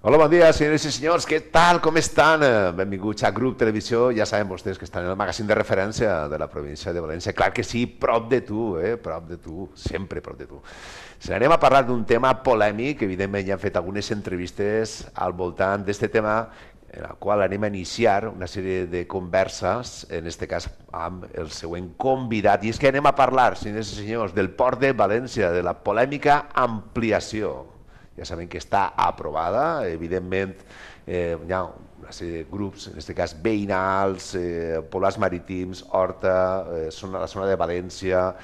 Hola, bon dia, senyores i senyors, què tal, com estan? Benvinguts a Grup Televisió, ja saben vostès que estan en el magazín de referència de la província de València, clar que sí, prop de tu, prop de tu, sempre prop de tu. Si anem a parlar d'un tema polèmic, evidentment ja hem fet algunes entrevistes al voltant d'aquest tema, en el qual anem a iniciar una sèrie de converses, en aquest cas amb el següent convidat, i és que anem a parlar, senyores i senyors, del Port de València, de la polèmica ampliació. Ja sabem que està aprovada, evidentment hi ha una sèrie de grups, en aquest cas veïnals, poblats marítims, Horta, la zona de València,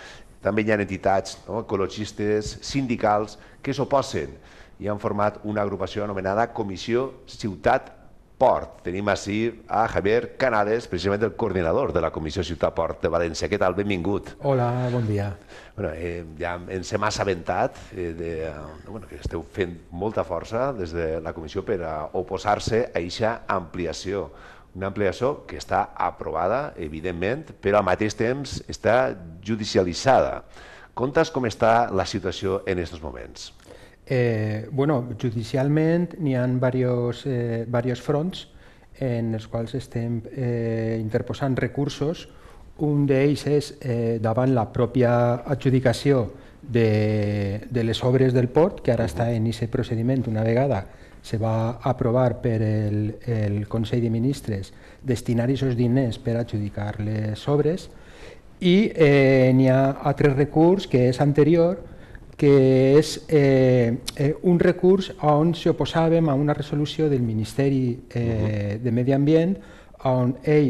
també hi ha entitats ecologistes, sindicals, que s'oposen i han format una agrupació anomenada Comissió Ciutat Port. Tenim així a Javier Canades, precisament el coordinador de la Comissió Ciutat Port de València. Què tal? Benvingut. Hola, bon dia. Bueno, ja ens hem assabentat que esteu fent molta força des de la Comissió per a oposar-se a aquesta ampliació. Una ampliació que està aprovada, evidentment, però al mateix temps està judicialitzada. Conta'ns com està la situació en aquests moments. Judicialment n'hi ha diversos fronts en els quals estem interposant recursos. Un d'ells és davant la pròpia adjudicació de les obres del port, que ara està en aquest procediment. Una vegada se va aprovar per el Consell de Ministres destinar aquests diners per adjudicar les obres, i n'hi ha altre recurs que és anterior, que és un recurs on s'oposàvem a una resolució del Ministeri de Medi Ambient on ell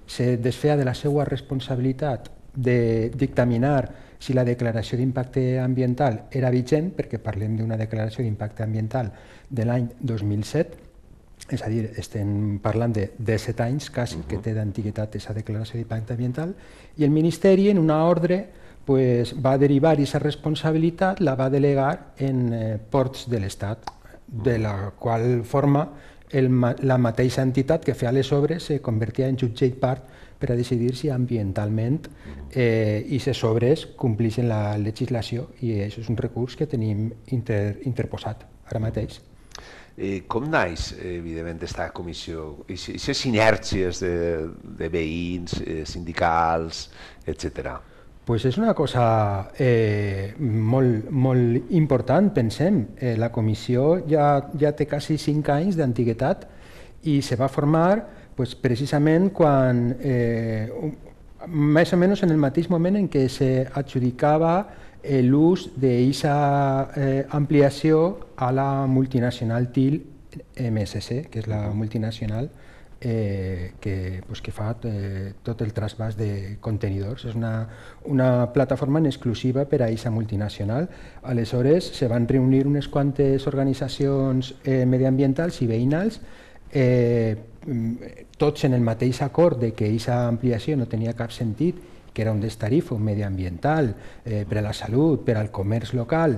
se desfeia de la seva responsabilitat de dictaminar si la declaració d'impacte ambiental era vigent, perquè parlem d'una declaració d'impacte ambiental de l'any 2007, és a dir, estem parlant de 17 anys quasi que té d'antiguitat aquesta declaració d'impacte ambiental, i el Ministeri en una ordre va derivar aquesta responsabilitat, la va delegar en ports de l'Estat, de la qual forma la mateixa entitat que feia les obres se convertia en jutge i part per a decidir si ambientalment aquestes obres compleixen la legislació, i això és un recurs que tenim interposat ara mateix. Com naix, evidentment, aquesta comissió? Aquestes sinèrgies de veïns, sindicals, etcètera? És una cosa molt important, pensem. La comissió ja té quasi 5 anys d'antiguitat i se va formar precisament quan, més o menys en el mateix moment en què s'adjudicava l'ús d'aquesta ampliació a la multinacional TIL MSC, que és la multinacional que fa tot el trasbàs de contenidors. És una plataforma en exclusiva per a aquesta multinacional. Aleshores se van reunir unes quantes organitzacions mediambientals i veïnals, tots en el mateix acord de que aquesta ampliació no tenia cap sentit, que era un destarifo mediambiental per a la salut, per al comerç local,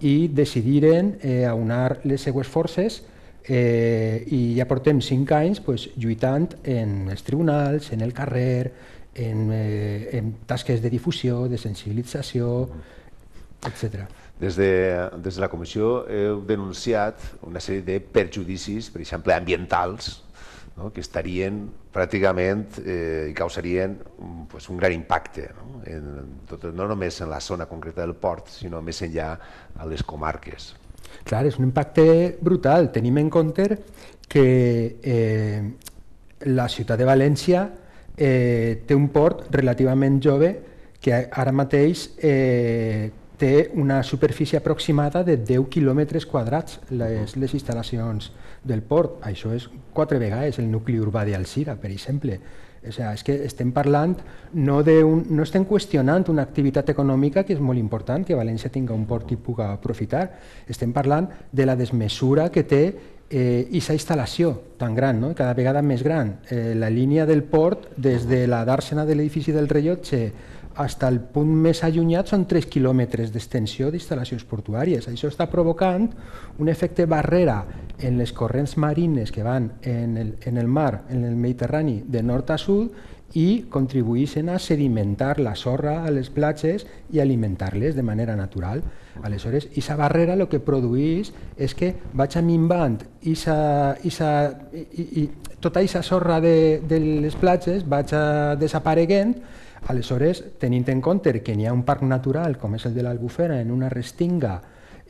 i decidiren aunar les seues forces, i ja portem 5 anys lluitant en els tribunals, en el carrer, en tasques de difusió, de sensibilització, etc. Des de la comissió heu denunciat una sèrie de perjudicis, per exemple, ambientals, que estarien pràcticament i causarien un gran impacte, no només en la zona concreta del port, sinó més enllà a les comarques. Clar, és un impacte brutal. Tenim en compte que la ciutat de València té un port relativament jove que ara mateix té una superfície aproximada de 10 quilòmetres quadrats les instal·lacions del port. Això és 4 vegades el nucli urbà d'Alzira, per exemple. És que estem parlant, no estem qüestionant una activitat econòmica que és molt important, que València tingui un port i pugui aprofitar. Estem parlant de la desmesura que té aquesta instal·lació tan gran, cada vegada més gran. La línia del port, des de la dàrsena de l'edifici del Rellotge fins al punt més allunyat són 3 quilòmetres d'extensió d'instal·lacions portuàries. Això està provocant un efecte barrera en les corrents marines que van en el mar, en el Mediterrani, de nord a sud, i contribueixen a sedimentar la sorra a les platges i alimentar-les de manera natural. Aleshores, aquesta barrera el que produeix és que vaig minvant tota aquesta sorra de les platges vaig desapareguent. Aleshores, tenint en compte que n'hi ha un parc natural com és el de l'Albufera, en una restinga,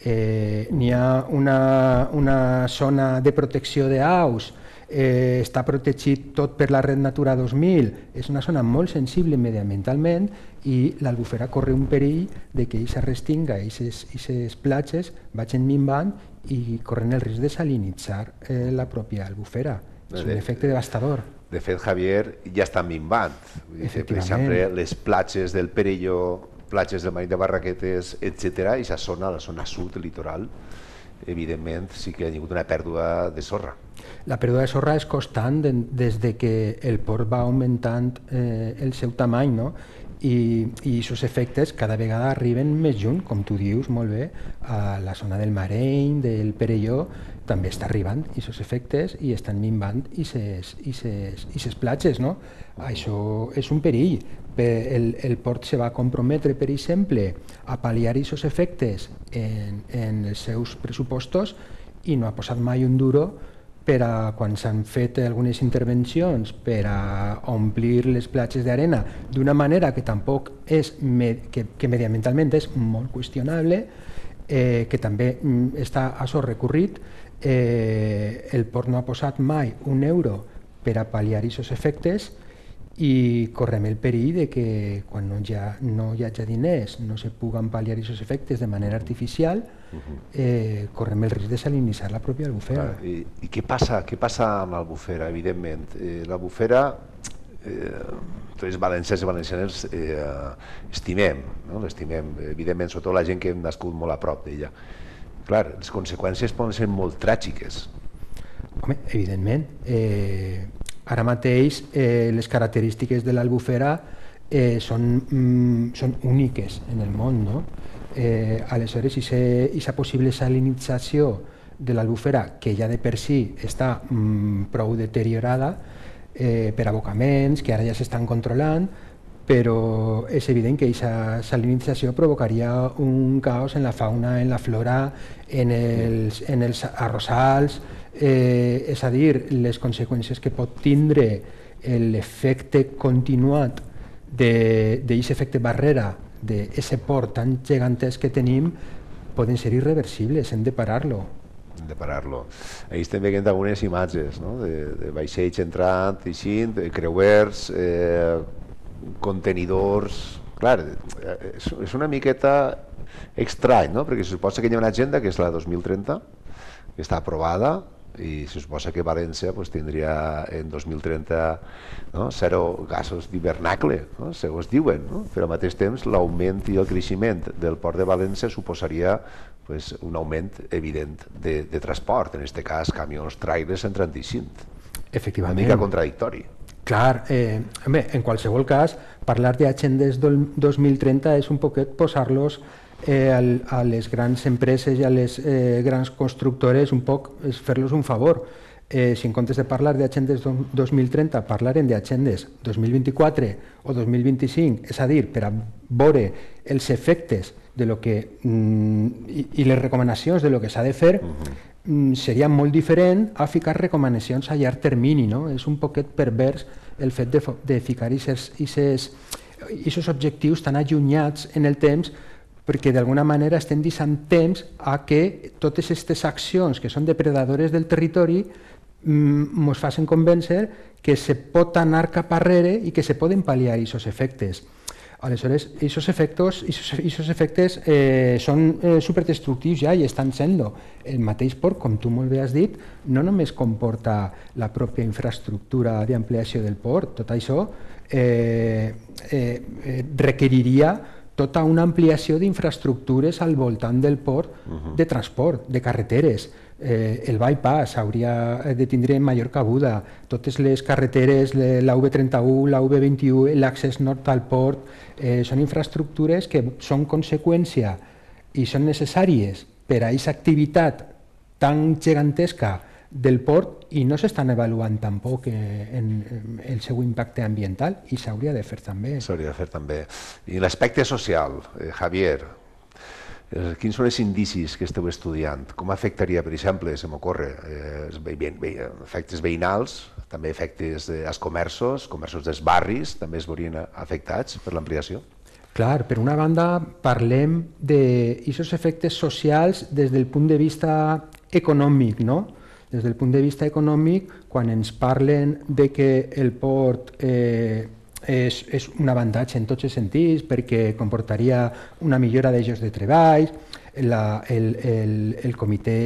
n'hi ha una zona de protecció d'aus, està protegit tot per la Red Natura 2000, és una zona molt sensible mediambientalment i l'Albufera corre un perill de que aquesta restinga i aquestes platges vagin minvant i corren el risc de salinitzar la pròpia Albufera. És un efecte devastador. De fet, Javier, ja estan minvant. Per exemple, les platges del Perelló, platges del Marit de Barraquetes, etc., i la zona sud, el litoral, evidentment sí que ha hagut una pèrdua de sorra. La pèrdua de sorra és constant des que el port va augmentant el seu tamany, no? I aquests efectes cada vegada arriben més lluny, com tu dius molt bé, a la zona del Mareny, del Perelló, també està arribant aquests efectes i estan minvant aquestes platges, no? Això és un perill. El port se va comprometre, per exemple, a pal·liar aquests efectes en els seus pressupostos i no ha posat mai un duro per a quan s'han fet algunes intervencions per a omplir les platges d'arena d'una manera que tampoc és que mediambientalment és molt qüestionable, que també està a so recorrit. El port no ha posat mai un euro per a pal·liar aquests efectes i correm el perill de que quan no hi hagi diners, no se puguen pal·liar aquests efectes de manera artificial, correm el risc de salinitzar la pròpia Albufera. I què passa amb l'Albufera? Evidentment, l'Albufera, tots els valencians i valencianes l'estimem, evidentment, sobretot la gent que hem nascut molt a prop d'ella. Clar, les conseqüències poden ser molt tràgiques. Home, evidentment. Ara mateix les característiques de l'Albufera són úniques en el món, no? Aleshores, aquesta possible salinització de l'Albufera, que ja de per si està prou deteriorada per abocaments, que ara ja s'estan controlant, però és evident que aquesta salinització provocaria un caos en la fauna, en la flora, en els arrossals, és a dir, les conseqüències que pot tindre l'efecte continuat d'aquest efecte barrera d'aquest port tan gegantesc que tenim poden ser irreversibles, hem de parar-lo. Hem de parar-lo. Ahir estem veient algunes imatges, no? De vaixells entrant, eixint, creuers, contenidors. Clar, és una miqueta estrany, no? Perquè se suposa que hi ha una agenda que és la 2030, que està aprovada, i se suposa que València tindria en 2030 zero gasos d'hivernacle, segons diuen, però al mateix temps l'augment i el creixement del port de València suposaria un augment evident de transport, en aquest cas camions, trailers entrant i eixint. Efectivament. Una mica contradictori. Clar, en qualsevol cas, parlar d'agendes 2030 és un poquet posar-los a les grans empreses i a les grans constructores un poc fer-los un favor. Si en comptes de parlar d'agendes 2030 parlaren d'agendes 2024 o 2025, és a dir, per a veure els efectes de lo que, i les recomanacions de lo que s'ha de fer, seria molt diferent a ficar recomanacions a llarg termini, no? És un poquet pervers el fet de ficar aquests objectius tan allunyats en el temps, perquè d'alguna manera estem deixant temps a que totes aquestes accions que són depredadores del territori ens facin convèncer que se pot anar cap arrere i que se poden pal·liar aquests efectes. Aleshores, aquests efectes són superdestructius ja i estan sent-lo. El mateix port, com tu molt bé has dit, no només comporta la pròpia infraestructura d'ampliació del port, tot això requeriria tota una ampliació d'infraestructures al voltant del port de transport, de carreteres. El bypass hauria de tindre major cabuda, totes les carreteres, la V31, la V21, l'accés nord al port, són infraestructures que són conseqüència i són necessàries per a aquesta activitat tan gegantesca del port i no s'estan avaluant tampoc el seu impacte ambiental i s'hauria de fer també. S'hauria de fer també. I l'aspecte social, Javier, quins són els indicis que esteu estudiant? Com afectaria, per exemple, se m'ocorre, efectes veïnals, també efectes als comerços dels barris, també es veurien afectats per l'ampliació? Clar, per una banda parlem d'aquests efectes socials des del punt de vista econòmic, no? Des del punt de vista econòmic, quan ens parlen de que el port és un avantatge en tots els sentits perquè comportaria una millora de llocs de treball, el comitè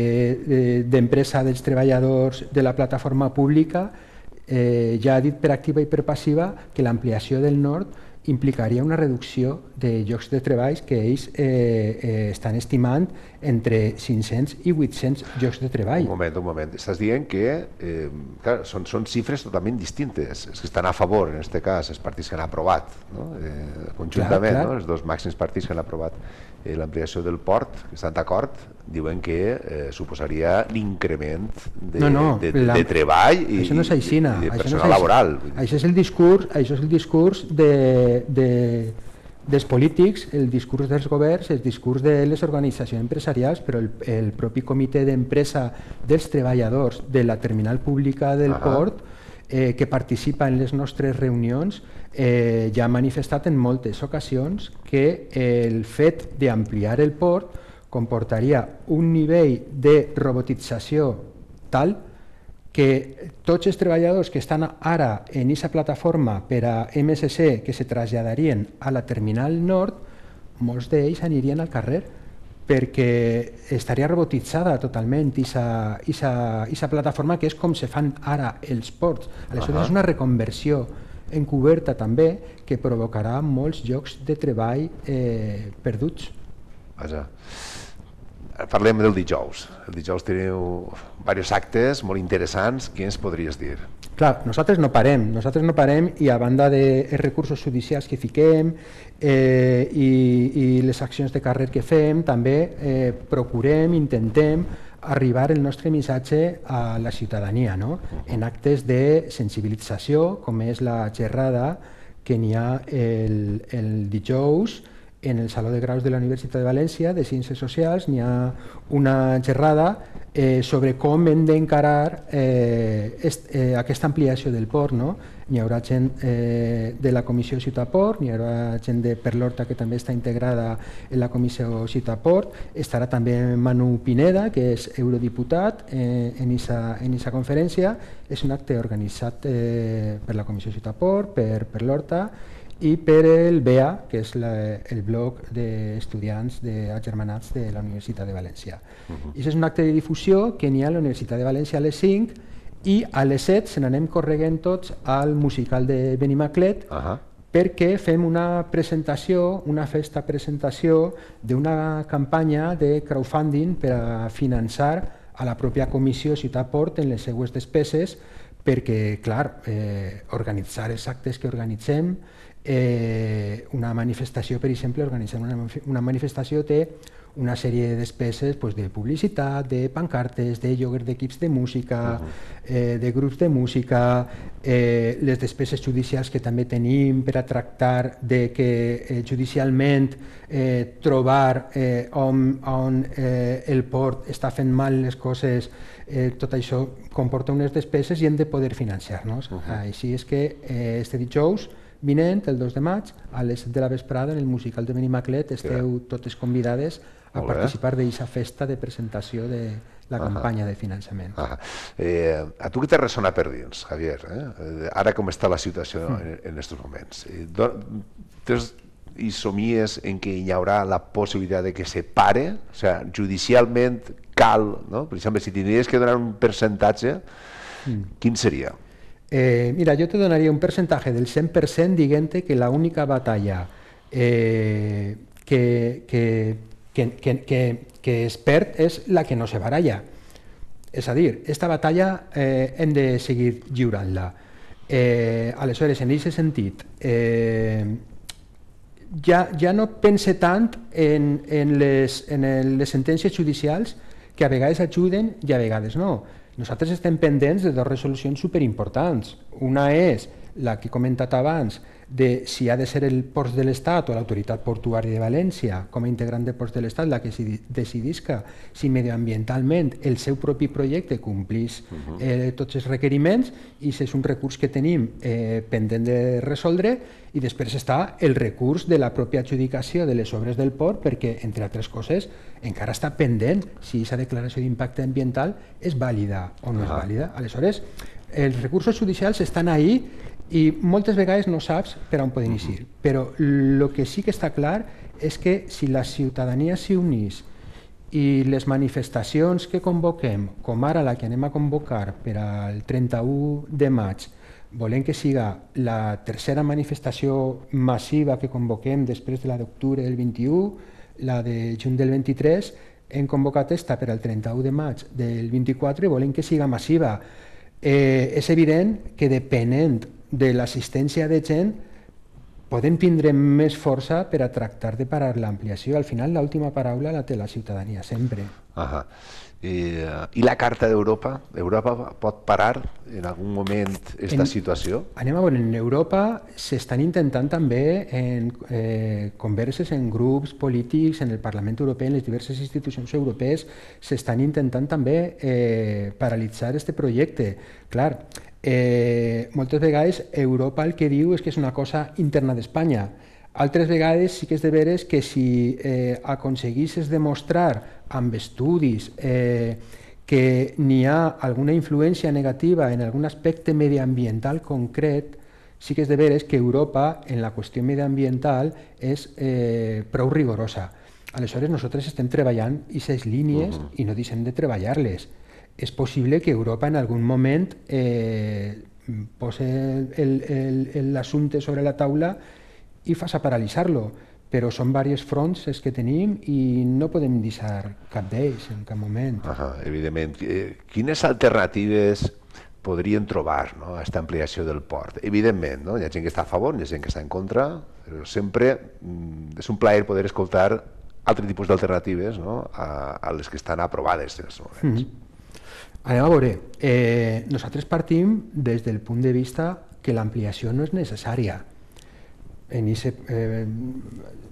d'empresa dels treballadors de la plataforma pública ja ha dit per activa i per passiva que l'ampliació del nord implicaria una reducció de llocs de treball que ells estan estimant entre 500 i 800 llocs de treball. Un moment. Estàs dient que clar, són xifres totalment distintes. Els que estan a favor, en aquest cas, els partits que han aprovat, no? Conjuntament, clar. No? Els dos màxims partits que han aprovat l'ampliació del port, que estan d'acord, diuen que suposaria l'increment de treball i de personal laboral. Això és el discurs dels polítics, el discurs dels governs, el discurs de les organitzacions empresarials, però el propi comitè d'empresa dels treballadors de la terminal pública del port que participa en les nostres reunions ja ha manifestat en moltes ocasions que el fet d'ampliar el port comportaria un nivell de robotització tal que tots els treballadors que estan ara en aquesta plataforma per a MSC que se traslladarien a la terminal nord, molts d'ells anirien al carrer perquè estaria robotitzada totalment aquesta plataforma que és com se fan ara els ports. Aleshores és una reconversió encoberta també que provocarà molts llocs de treball perduts. Vaja. Parlem del dijous. El dijous teniu diversos actes molt interessants. Què ens podries dir? Clar, nosaltres no parem i a banda dels recursos judicials que fiquem i les accions de carrer que fem, també procurem, intentem arribar el nostre missatge a la ciutadania, no? En actes de sensibilització, com és la xerrada que n'hi ha el dijous en el Saló de Graus de la Universitat de València de Ciències Socials. N'hi ha una xerrada sobre com hem d'encarar aquesta ampliació del port, no? N'hi haurà gent de la Comissió Ciutat Port, n'hi haurà gent de Perlorta que també està integrada en la Comissió Ciutat Port, estarà també Manu Pineda, que és eurodiputat en aquesta conferència. És un acte organitzat per la Comissió Ciutat Port, per Perlorta i per el BEA, que és el bloc d'estudiants agermanats de la Universitat de València. I és un acte de difusió que n'hi ha a la Universitat de València a les 5 i a les 7 se n'anem correguent tots al musical de Benimaclet perquè fem una presentació, una festa presentació d'una campanya de crowdfunding per a finançar a la pròpia Comissió Ciutat Port en les seues despeses perquè, clar, organitzar els actes que organitzem, una manifestació, per exemple, organitzar una manifestació té una sèrie de despeses de publicitat, de pancartes, de lloguer d'equips de música, de grups de música, les despeses judicials que també tenim per a tractar de que judicialment trobar on el port està fent mal les coses, tot això comporta unes despeses i hem de poder financiar-nos. Així és que este dijous vinent, el 2 de maig, a les 7 de la vesprada, en el musical de Benimaclet, esteu totes convidades a participar d'aquesta festa de presentació de la campanya de finançament. A tu què te ressona per dins, Javier? Ara com està la situació en aquests moments? I somies en què hi haurà la possibilitat de que se pare? O sigui, judicialment cal, no? Per exemple, si tindries que donar un percentatge, quin seria? Mira, jo te donaria un percentatge del 100% dient que l'única batalla que es perd és la que no se baralla. És a dir, esta batalla hem de seguir lliurant-la. Aleshores, en aquest sentit, ja no pense tant en les sentències judicials, que a vegades ajuden i a vegades no. Nosaltres estem pendents de dues resolucions superimportants. Una és la que he comentat abans, de si ha de ser el Ports de l'Estat o l'Autoritat Portuària de València com a integrant de Ports de l'Estat la que decidisca si mediambientalment el seu propi projecte complís tots els requeriments, i és un recurs que tenim pendent de resoldre. I després està el recurs de la pròpia adjudicació de les obres del port, perquè, entre altres coses, encara està pendent si aquesta declaració d'impacte ambiental és vàlida o no és vàlida. Aleshores, els recursos judicials estan ahí i moltes vegades no saps per on poden eixir. Però el que sí que està clar és que si la ciutadania s'hi unís i les manifestacions que convoquem, com ara la que anem a convocar per al 31 de maig, volem que siga la tercera manifestació massiva que convoquem després de la d'octubre del 21, la de juny del 23, hem convocat esta per al 31 de maig del 24 i volem que siga massiva. És evident que depenent de l'assistència de gent podem tindre més força per a tractar de parar l'ampliació. Al final l'última paraula la té la ciutadania sempre. I la Carta d'Europa? Europa pot parar en algun moment aquesta situació? Anem a veure, en Europa s'estan intentant també en converses en grups polítics, en el Parlament Europeu, en les diverses institucions europees, s'estan intentant també paralitzar aquest projecte. Clar, moltes vegades Europa el que diu és que és una cosa interna d'Espanya. Altres vegades sí que és de veres que si aconseguissis demostrar amb estudis que n'hi ha alguna influència negativa en algun aspecte mediambiental concret, sí que és de veres que Europa en la qüestió mediambiental és prou rigorosa. Aleshores nosaltres estem treballant aquestes línies i no deixem de treballar-les. És possible que Europa en algun moment posi l'assumpte sobre la taula i faci paralitzar-lo, però són diversos fronts els que tenim i no podem deixar cap d'ells en cap moment. Evidentment. Quines alternatives podrien trobar a aquesta ampliació del port? Evidentment, hi ha gent que està a favor, hi ha gent que està en contra, però sempre és un plaer poder escoltar altres tipus d'alternatives a les que estan aprovades en aquests moments. Anem a veure, nosaltres partim des del punt de vista que l'ampliació no és necessària.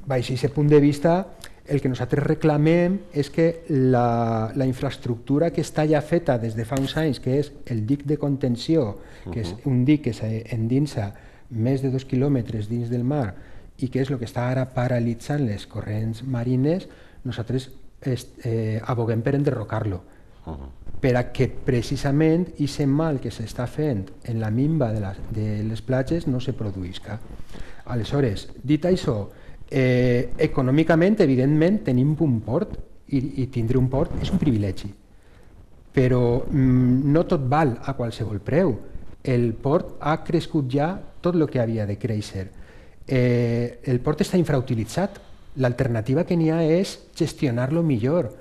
Baix aquest punt de vista, el que nosaltres reclamem és que la infraestructura que està ja feta des de fa uns anys, que és el dic de contenció, que és un dic que s'endinsa més de 2 quilòmetres dins del mar i que és el que està ara paralitzant les corrents marines, nosaltres aboguem per enderrocar-lo, per a que precisament aquest mal que s'està fent en la minva de les platges no se produïsca. Aleshores, dit això, econòmicament, evidentment, tenim un port i tindre un port és un privilegi, però no tot val a qualsevol preu. El port ha crescut ja tot el que havia de créixer. El port està infrautilitzat. L'alternativa que n'hi ha és gestionar-lo millor,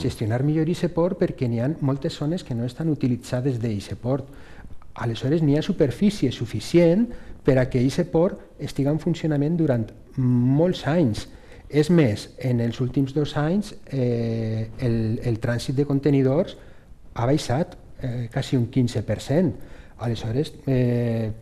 gestionar millor aquest port, perquè n'hi ha moltes zones que no estan utilitzades d'aquest port. Aleshores n'hi ha superfície suficient per a que aquest port estigui en funcionament durant molts anys. És més, en els últims 2 anys el trànsit de contenidors ha baixat quasi un 15%. Aleshores,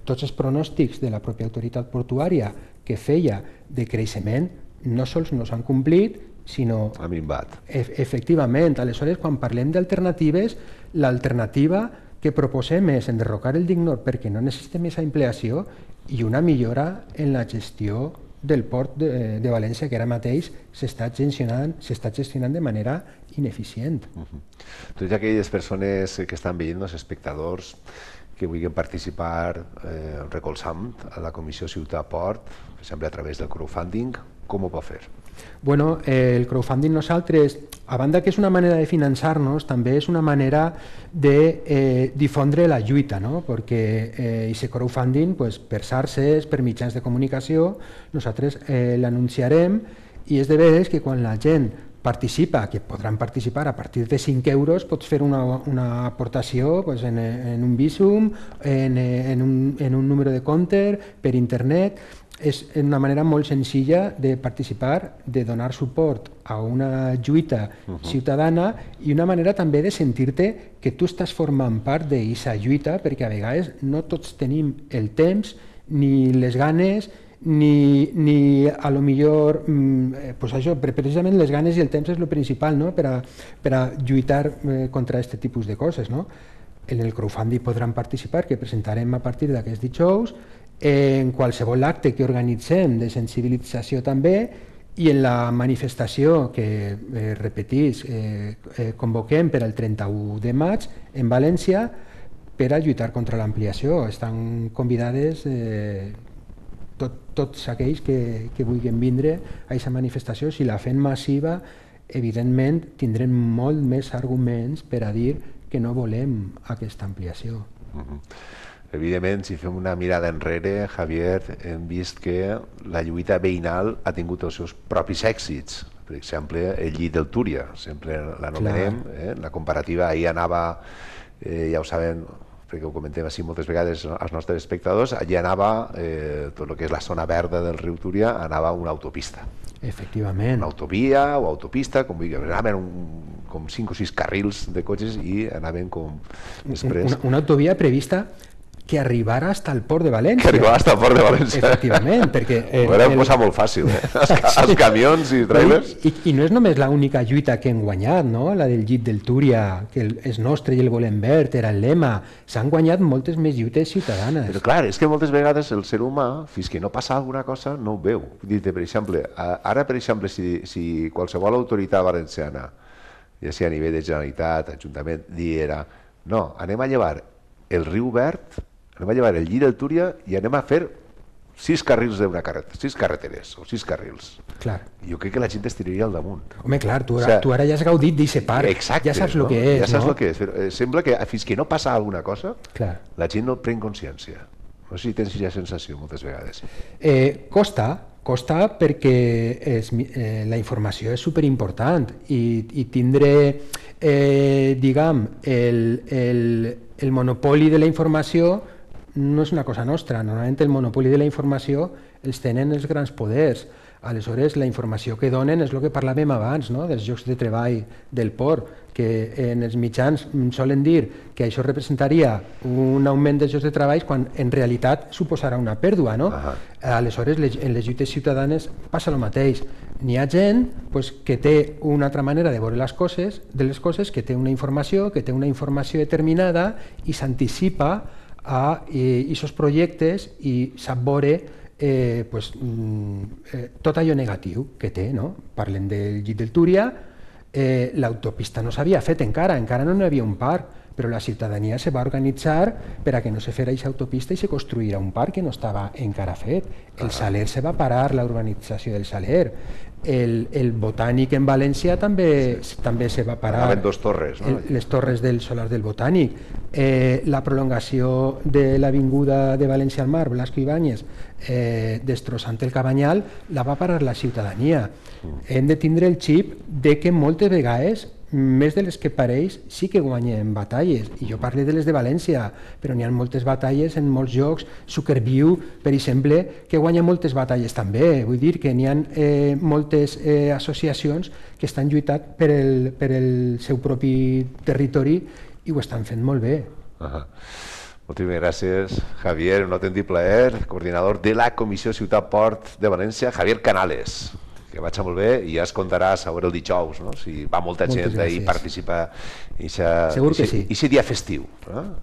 tots els pronòstics de la pròpia autoritat portuària que feia de creixement no sols no s'han complit, sinó... Ha minvat. Efectivament. Aleshores, quan parlem d'alternatives, l'alternativa que proposem és enderrocar el dic nord perquè no necessitem aquesta ampliació i una millora en la gestió del port de València, que ara mateix s'està gestionant de manera ineficient. Totes aquelles persones que estan veient, els espectadors, que vulguin participar recolzant a la Comissió Ciutat Port, per exemple a través del crowdfunding, com ho pot fer? Bueno, el crowdfunding nosaltres, a banda que és una manera de finançar-nos, també és una manera de difondre la lluita, no? Perquè aquest crowdfunding, pues, per xarxes, per mitjans de comunicació, nosaltres l'anunciarem, i és de veres que quan la gent participa, que podran participar a partir de 5 euros, pots fer una aportació pues, en un Bizum, en un número de compte, per internet. És una manera molt senzilla de participar, de donar suport a una lluita ciutadana i una manera també de sentir-te que tu estàs formant part d'aquesta lluita, perquè a vegades no tots tenim el temps ni les ganes ni a lo millor pues això, precisament les ganes i el temps és el principal, no? per a lluitar contra aquest tipus de coses, no? En el crowdfunding podran participar, que presentarem a partir d'aquests dijous, en qualsevol acte que organitzem de sensibilització també, i en la manifestació que, repetís, convoquem per al 31 de maig en València per a lluitar contra l'ampliació. Estan convidades tots aquells que vulguin vindre a aquesta manifestació. Si la fem massiva, evidentment tindrem molt més arguments per a dir que no volem aquesta ampliació. Evidentment, si fem una mirada enrere, Javier, hem vist que la lluita veïnal ha tingut els seus propis èxits. Per exemple, el llit del Túria, sempre l'anomenem, la comparativa ahir anava, ja ho saben, perquè ho comentem així moltes vegades als nostres espectadors, allà anava, tot el que és la zona verda del riu Túria, anava una autopista. Efectivament. Una autovia o autopista, com vulguis, anaven com 5 o 6 carrils de cotxes i anaven com després... Una autovia prevista que arribara hasta el port de València. Que arribara hasta el port de València. Efectivament, perquè... Ho vam posar molt fàcil, els camions i trailers. I no és només l'única lluita que hem guanyat, no? La del llit del Túria, que és nostre i el volem verd, era el lema. S'han guanyat moltes més lluites ciutadanes. Però clar, és que moltes vegades el ser humà, fins que no passa alguna cosa, no ho veu. Dir-te, per exemple, ara, per exemple, si qualsevol autoritat valenciana, ja sigui a nivell de Generalitat, Ajuntament, diera, no, anem a llevar el riu verd, anem a llevar el llit del Túria i anem a fer 6 carrils d'una carretera, 6 carreteres o 6 carrils. Clar. Jo crec que la gent estaria al damunt. Home, clar, tu ara ja has gaudit d'aquest parc. Exacte, ja saps el que és, ja saps el que és. Sembla que fins que no passa alguna cosa, la gent no pren consciència. No sé si tens aquesta sensació moltes vegades. Costa perquè la informació és superimportant i tindre, diguem, el monopoli de la informació no és una cosa nostra. Normalment el monopoli de la informació els tenen els grans poders. Aleshores, la informació que donen és el que parlàvem abans, no? Dels llocs de treball del port, que en els mitjans solen dir que això representaria un augment dels llocs de treball quan en realitat suposarà una pèrdua, no? Aleshores, en les lluites ciutadanes passa el mateix. N'hi ha gent que té una altra manera de veure les coses, que té una informació determinada i s'anticipa a aquests projectes i sap veure tot allò negatiu que té, no? Parlem del llit del Túria, l'autopista no s'havia fet encara no n'hi havia un parc, però la ciutadania se va organitzar per a que no se fera aquesta autopista i se construïra un parc que no estava encara fet. El Saler se va parar, la urbanització del Saler. El Botànic en València també se va parar. Anaven 2 torres, no? Les torres del solar del Botànic. La prolongació de l'avinguda de València al Mar, Blasco Ibáñez, destrossant el Cabanyal, la va parar la ciutadania. Hem de tindre el xip de que moltes vegades, més de les que pareix, sí que guanyem batalles. I jo parlo de les de València, però n'hi ha moltes batalles en molts llocs. Suckerview, per exemple, que guanya moltes batalles també. Vull dir que n'hi ha moltes associacions que estan lluitant per el seu propi territori i ho estan fent molt bé. Moltíssimes gràcies, Javier, un autèntic plaer, coordinador de la Comissió Ciutat Port de València, Javier Canales. Que vaig molt bé i ja es contaràs a veure el dijous, no? Si va molta gent i participa i aquest dia festiu.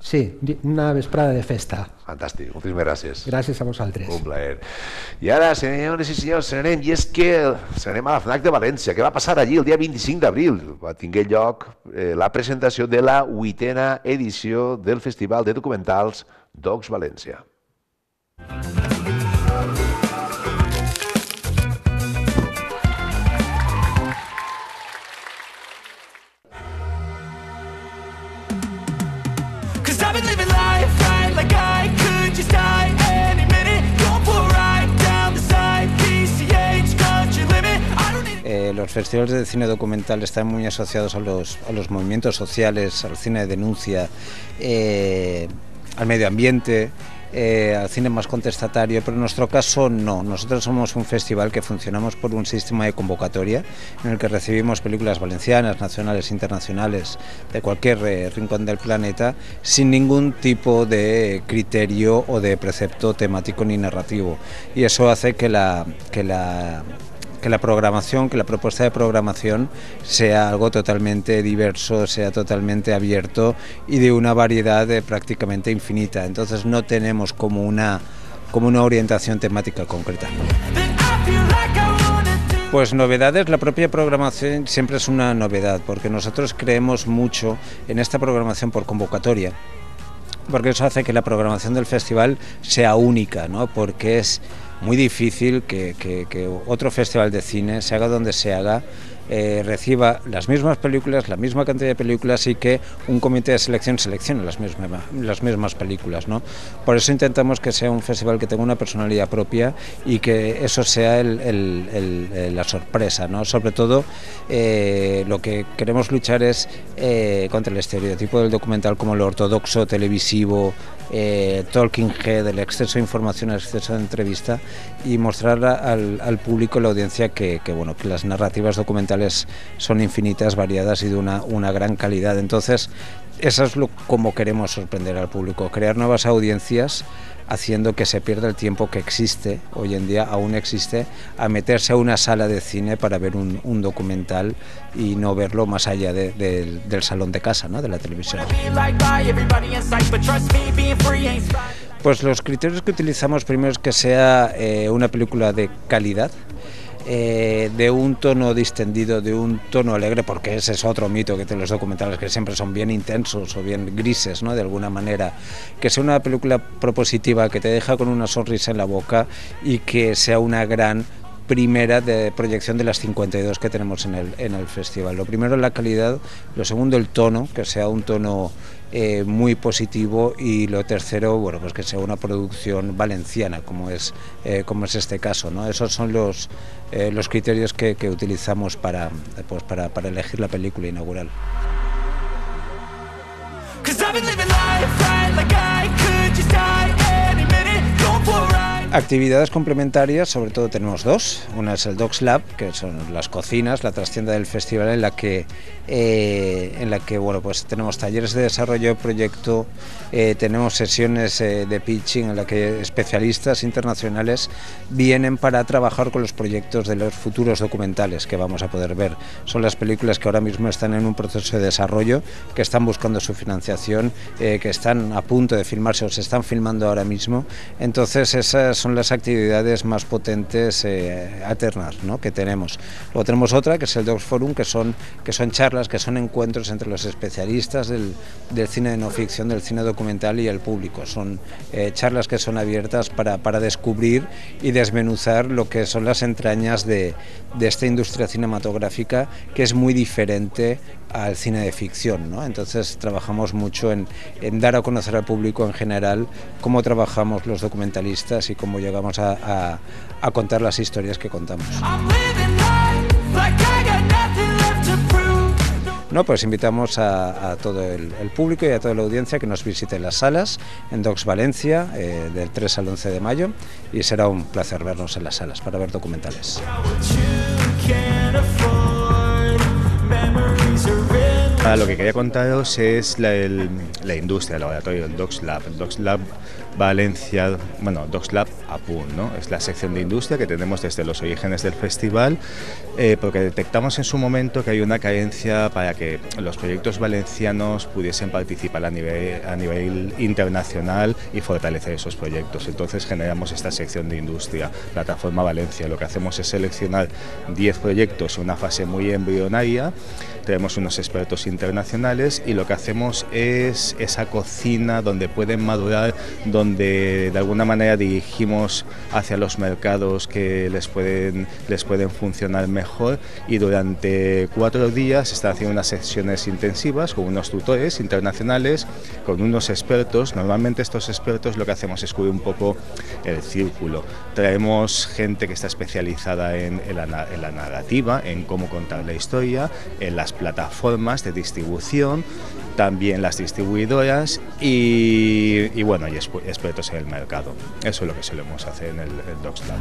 Sí, una vesprada de festa. Fantàstic, moltíssimes gràcies. Gràcies a vosaltres. Un plaer. I ara, senyores i senyors, anem, i és que anem a la FNAC de València. Què va passar allí el dia 25 d'abril? Va tingué lloc la presentació de la 8a edició del Festival de Documentals Docs València. festivales de cine documental están muy asociados a los movimientos sociales, al cine de denuncia, al medio ambiente, al cine más contestatario, pero en nuestro caso no. Nosotros somos un festival que funcionamos por un sistema de convocatoria en el que recibimos películas valencianas, nacionales, internacionales, de cualquier rincón del planeta, sin ningún tipo de criterio o de precepto temático ni narrativo. Y eso hace que la programación, que la propuesta de programación sea algo totalmente diverso, sea totalmente abierto y de una variedad prácticamente infinita. Entonces no tenemos como una orientación temática concreta. Pues novedades, la propia programación siempre es una novedad, porque nosotros creemos mucho en esta programación por convocatoria, porque eso hace que la programación del festival sea única, ¿no? Porque es muy difícil que otro festival de cine, se haga donde se haga, reciba las mismas películas, la misma cantidad de películas y que un comité de selección seleccione las mismas películas, ¿no? Por eso intentamos que sea un festival que tenga una personalidad propia y que eso sea la sorpresa, ¿no? Sobre todo lo que queremos luchar es contra el estereotipo del documental como lo ortodoxo, televisivo, talking head, el exceso de información, el exceso de entrevista, y mostrar al público, la audiencia, que las narrativas documentales son infinitas, variadas y de una gran calidad. Entonces, eso es como queremos sorprender al público, crear nuevas audiencias, haciendo que se pierda el tiempo que existe, hoy en día aún existe, a meterse a una sala de cine para ver un documental y no verlo más allá del salón de casa, ¿no? De la televisión. Pues los criterios que utilizamos primero es que sea una película de calidad, de un tono distendido, de un tono alegre, porque ese es otro mito que tienen los documentales, que siempre son bien intensos o bien grises, ¿no? De alguna manera. Que sea una película propositiva, que te deja con una sonrisa en la boca y que sea una gran primera de proyección de las 52 que tenemos en el festival. Lo primero, la calidad; lo segundo, el tono, que sea un tono muy positivo; y lo tercero, bueno, pues que sea una producción valenciana, como es este caso, ¿no? Esos son los criterios que utilizamos para elegir la película inaugural. Actividades complementarias, sobre todo tenemos dos. Una es el Docs Lab, que son las cocinas, la trastienda del festival, en la que bueno, pues tenemos talleres de desarrollo de proyecto, tenemos sesiones de pitching en la que especialistas internacionales vienen para trabajar con los proyectos de los futuros documentales que vamos a poder ver. Son las películas que ahora mismo están en un proceso de desarrollo, que están buscando su financiación, que están a punto de filmarse o se están filmando ahora mismo. Entonces esas son las actividades más potentes alternas, ¿no?, que tenemos. Luego tenemos otra, que es el Docs Forum, que son charlas, que son encuentros entre los especialistas del cine de no ficción, del cine documental y el público. Son charlas que son abiertas para descubrir y desmenuzar lo que son las entrañas de esta industria cinematográfica, que es muy diferente al cine de ficción, ¿no? Entonces trabajamos mucho en dar a conocer al público en general cómo trabajamos los documentalistas y cómo llegamos a contar las historias que contamos. No, pues invitamos a todo el público y a toda la audiencia que nos visite las salas en Docs Valencia del 3 al 11 de mayo, y será un placer vernos en las salas para ver documentales. Lo que quería contaros es la industria, el laboratorio, el Docs Lab. El Docs Lab Valencia, bueno, Docs Lab APUN, ¿no? Es la sección de industria que tenemos desde los orígenes del festival, porque detectamos en su momento que hay una carencia para que los proyectos valencianos pudiesen participar a nivel internacional y fortalecer esos proyectos. Entonces generamos esta sección de industria, Plataforma Valencia. Lo que hacemos es seleccionar 10 proyectos en una fase muy embrionaria. Tenemos unos expertos internacionales y lo que hacemos es esa cocina donde pueden madurar, donde donde de alguna manera dirigimos hacia los mercados que les pueden funcionar mejor, y durante 4 días se están haciendo unas sesiones intensivas con unos tutores internacionales, con unos expertos. Normalmente estos expertos lo que hacemos es cubrir un poco el círculo. Traemos gente que está especializada en la narrativa, en cómo contar la historia, en las plataformas de distribución, también las distribuidoras y bueno, y expertos en el mercado. Eso es lo que solemos hacer en el Docs Lab.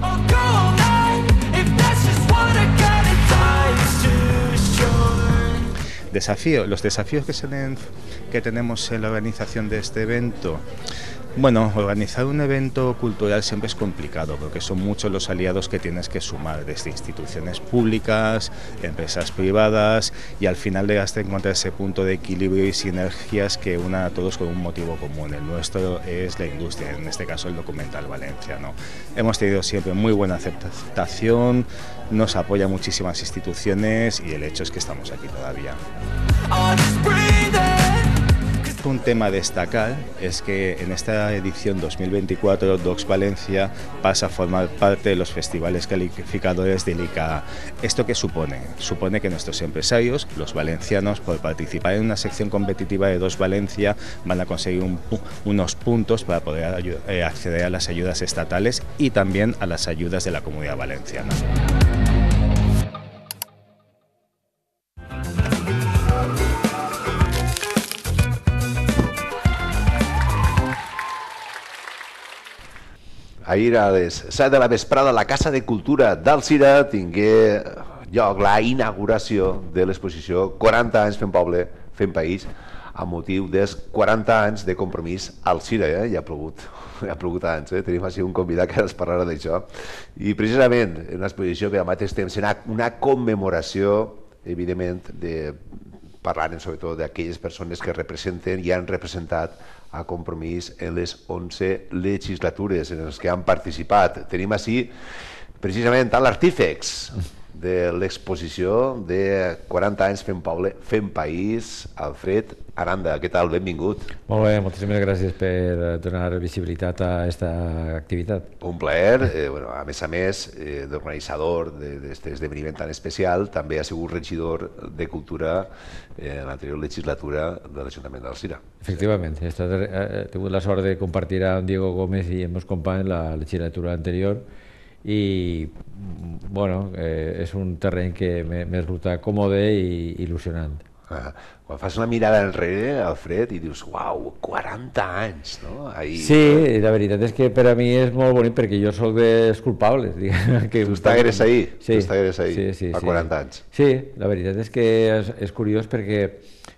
Los desafíos que tenemos en la organización de este evento. Bueno, organizar un evento cultural siempre es complicado porque son muchos los aliados que tienes que sumar, desde instituciones públicas, empresas privadas, y al final llegas a encontrar ese punto de equilibrio y sinergias que unan a todos con un motivo común. El nuestro es la industria, en este caso el documental valenciano. Hemos tenido siempre muy buena aceptación, nos apoyan muchísimas instituciones y el hecho es que estamos aquí todavía. Un tema a destacar es que en esta edición 2024 Docs Valencia pasa a formar parte de los festivales calificadores del ICA. ¿Esto qué supone? Supone que nuestros empresarios, los valencianos, por participar en una sección competitiva de Docs Valencia, van a conseguir unos puntos para poder acceder a las ayudas estatales y también a las ayudas de la Comunidad Valenciana. Ahir a les 7 de la vesprada a la Casa de Cultura d'Alzira tingué lloc la inauguració de l'exposició 40 anys fent poble, fent país, amb motiu dels 40 anys de compromís Alzira. Ja ha plogut anys, tenim així un convidat que ens parlarà d'això. I precisament en una exposició que al mateix temps serà una commemoració, evidentment, parlant sobretot d'aquelles persones que representen i han representat a Compromís en les 11 legislatures en les que han participat. Tenim així precisament l'artífex de l'exposició de 40 anys fent poble, fent país, Alfred Aranda. Què tal? Benvingut. Molt bé, moltíssimes gràcies per donar visibilitat a aquesta activitat. Un plaer. A més, d'organitzador d'aquest esdeveniment tan especial, també ha sigut regidor de Cultura en l'anterior legislatura de l'Ajuntament d'Alzira. Efectivament, he tingut la sort de compartir amb Diego Gómez i amb els companys la legislatura anterior i bueno, és un terreny que me resulta còmode i il·lusionant. Quan fas una mirada enrere, Alfred, i dius, uau, 40 anys, no? Sí, la veritat és que per a mi és molt bonic perquè jo soc dels culpables. Tu estigueres ahí, fa 40 anys. Sí, la veritat és que és curiós perquè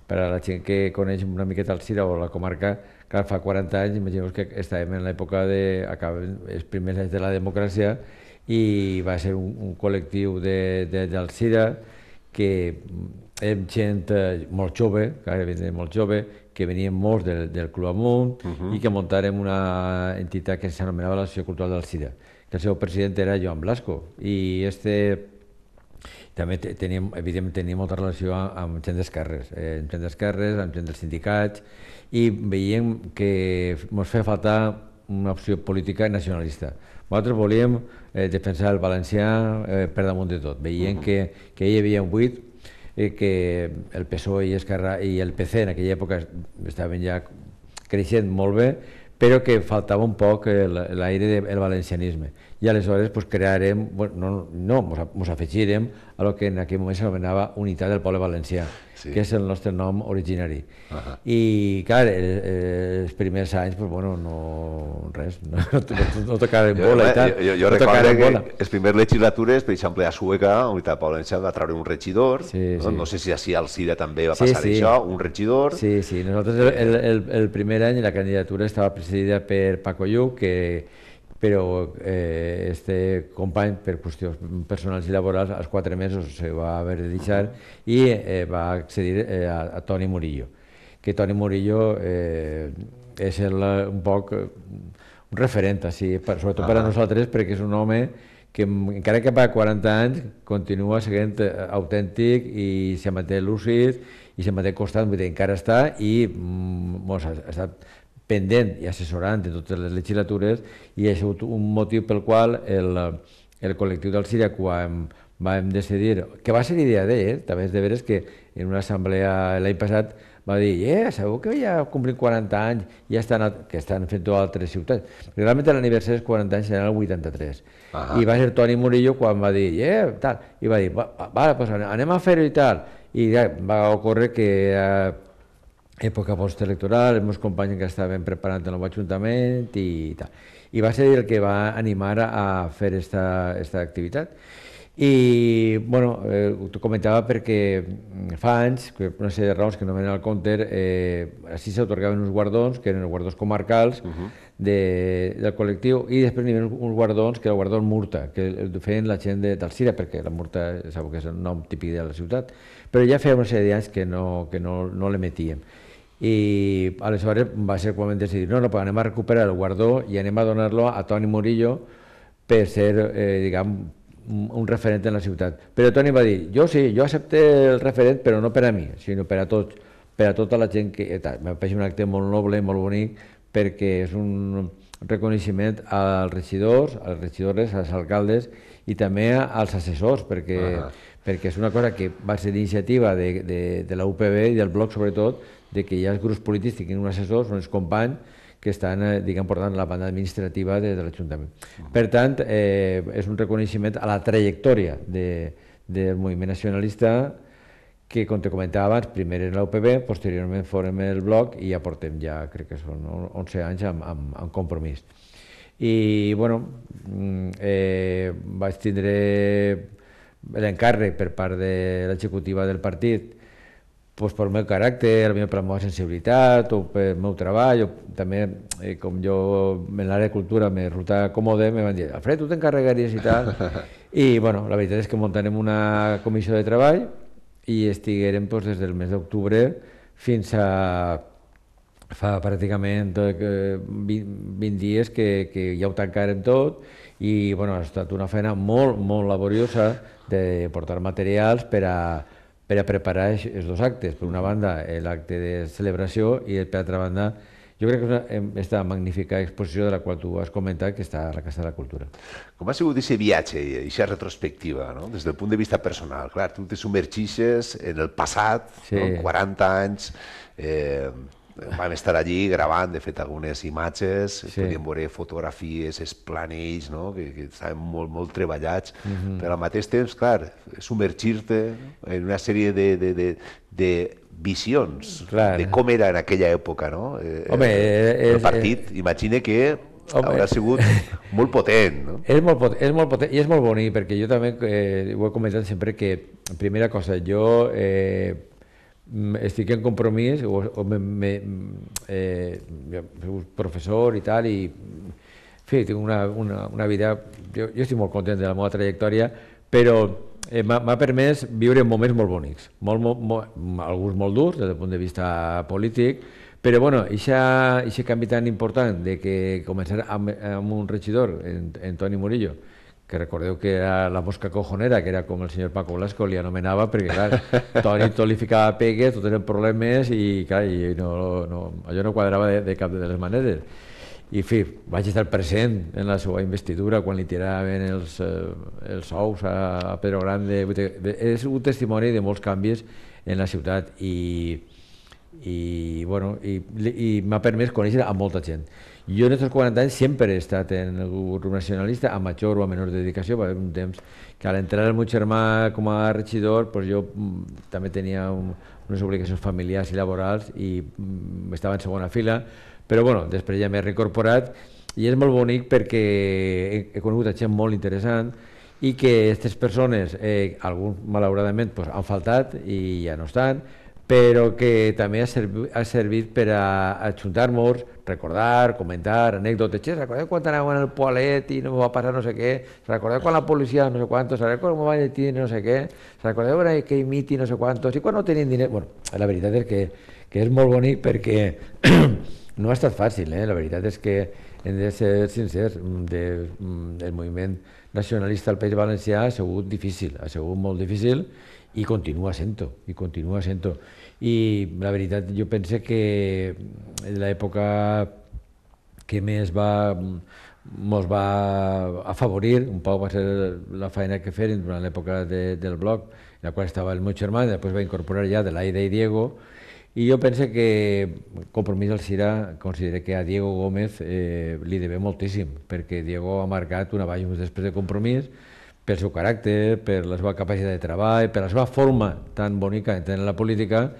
per a la gent que coneix una miqueta Alzira o la comarca, clar, fa 40 anys, imagineu que estàvem en l'època els primers anys de la democràcia i va ser un col·lectiu d'Alzira que érem gent molt jove, molt jove, que venien molts del Club Amunt i que muntàrem una entitat que s'anomenava l'Associació Cultural d'Alzira, que el seu president era Joan Blasco, i també evidentment tenia molta relació amb gent d'esquerres, amb gent dels sindicats, i veiem que ens feia faltar una opció política nacionalista. Nosaltres volíem defensar el valencià per damunt de tot. Veiem que hi havia un buit, que el PSOE i Esquerra i el PC en aquella època estaven ja creixent molt bé, però que faltava un poc l'aire del valencianisme. I aleshores crearem, ens afegirem a el que en aquell moment s'anomenava Unitat del Poble Valencià, que és el nostre nom originari. I, clar, els primers anys, res, no tocarem bola i tal. Jo recordo que les primeres legislatures, per exemple, a Sueca, Unitat del Poble Valencià va treure un regidor, no sé si així a Alzira també va passar això, un regidor. Sí, nosaltres el primer any la candidatura estava presidida per Paco Lluc, però este company, per qüestions personals i laborals, als 4 mesos se va haver de deixar i va accedir a Toni Murillo, que Toni Murillo és un poc un referent, sobretot per a nosaltres, perquè és un home que encara que fa 40 anys continua sent autèntic i se manté lúcid i se manté constant, encara està i ha estat pendent i assessorant en totes les legislatures, i ha sigut un motiu pel qual el col·lectiu del CIRA, quan vam decidir, que va ser idea d'ell, també és de veres que en una assemblea l'any passat va dir, sabeu que ja complim 40 anys i ja que estan fent-ho a altres ciutats. Perquè realment l'aniversari dels 40 anys serà el 83. I va ser Toni Murillo quan va dir, tal, i va dir, vale, pues anem a fer-ho i tal. I ja va ocórrer que època postelectoral, els meus companys que estaven preparant el nou ajuntament i tal. I va ser el que va animar a fer aquesta activitat. I, bueno, t'ho comentava perquè fa anys, per una sèrie de raons que no venen al compte, així s'atorgaven uns guardons, que eren els guardons comarcals del col·lectiu, i després n'hi havia uns guardons, que era el guardó Murta, que feien la gent del CIRA, perquè la Murta sabeu que és el nom típic de la ciutat, però ja feia una sèrie d'anys que no l'emetíem. I aleshores va ser quan vam decidir, no, pues anem a recuperar el guardó i anem a donar-lo a Toni Murillo per ser, diguem, un referent en la ciutat. Però Toni va dir, jo sí, jo accepto el referent, però no per a mi, sinó per a tots, per a tota la gent que... M'ha pareixit un acte molt noble, molt bonic, perquè és un reconeixement als regidors, a les regidores, als alcaldes i també als assessors, perquè és una cosa que va ser iniciativa de la UPB i del bloc, sobretot, de que hi ha els grups polítics que tinguin un assessor, són els companys que estan, diguem, portant la banda administrativa de l'Ajuntament. Per tant, és un reconeixement a la trajectòria del moviment nacionalista que, com te comentava abans, primer era la UPB, posteriorment fórem el bloc i ja portem, crec que són 11 anys amb Compromís. I, bueno, vaig tindre l'encàrrec per part de l'executiva del partit pel meu caràcter, per la meva sensibilitat o pel meu treball, o també, com jo en l'àrea de cultura me resulta còmode, me van dir, Alfred, tu t'encarregaries i tal. I, bueno, la veritat és que muntarem una comissió de treball i estiguerem des del mes d'octubre fins a fa pràcticament 20 dies que ja ho tancarem tot i, bueno, ha estat una feina molt, molt laboriosa de portar materials per a preparar els dos actes. Per una banda, l'acte de celebració i, per altra banda, jo crec que és aquesta magnífica exposició de la qual tu has comentat, que està a la Casa de la Cultura. Com ha sigut aquest viatge, aquesta retrospectiva, des del punt de vista personal? Clar, tu te submergixes en el passat, 40 anys, vam estar allí gravant, de fet, algunes imatges, podíem veure fotografies, els planells, que estaven molt treballats, però al mateix temps, clar, submergir-te en una sèrie de visions de com era en aquella època el partit. Imagina que haurà sigut molt potent. És molt potent i és molt bonic, perquè jo també ho he comentat sempre que, primera cosa, jo estic en Compromís, soc professor i tal, i en fi, tinc una vida, jo estic molt content de la meva trajectòria, però m'ha permès viure moments molt bonics, alguns molt durs des del punt de vista polític, però bueno, aquest canvi tan important de que començar amb un regidor, en Toni Murillo, que recordeu que era la mosca cojonera, que era com el senyor Paco Blasco li anomenava, perquè clar, Toni tot li ficava pegues, tot eren problemes i clar, allò no quadrava de cap de les maneres. I en fi, vaig estar present en la seva investidura quan li tiraven els ous a Pedro Grande. És un testimoni de molts canvis en la ciutat i m'ha permès conèixer a molta gent. Jo en aquests 40 anys sempre he estat en el grup nacionalista, a major o a menor dedicació. Va haver un temps que a l'entrar el meu germà com a regidor jo també tenia unes obligacions familiars i laborals i estava en segona fila, però bueno, després ja m'he reincorporat i és molt bonic perquè he conegut gent molt interessant i que aquestes persones, alguns malauradament han faltat i ja no estan, però que també ha servit per a ajuntar-nos, recordar, comentar, anècdotes. Recordeu quan anàvem al Poalet i no va passar no sé què? Recordeu quan la policia no sé quantos? Recordeu quan va lletir no sé què? Recordeu que imiti no sé quantos? I quan no tenien diners? Bueno, la veritat és que és molt bonic perquè no ha estat fàcil, la veritat és que hem de ser sincers, el moviment nacionalista al País Valencià ha sigut difícil, ha sigut molt difícil i continua sent-ho, i la veritat jo penso que l'època que més mos va afavorir, un poc va ser la feina que feren durant l'època del blog, en la qual estava el meu germà, i després va incorporar ja de l'Aida i Diego, i jo penso que Compromís Alzira considera que a Diego Gómez li deve moltíssim, perquè Diego ha marcat un abans i un després de Compromís, pel seu caràcter, per la seva capacitat de treball, per la seva forma tan bonica d'entendre la política,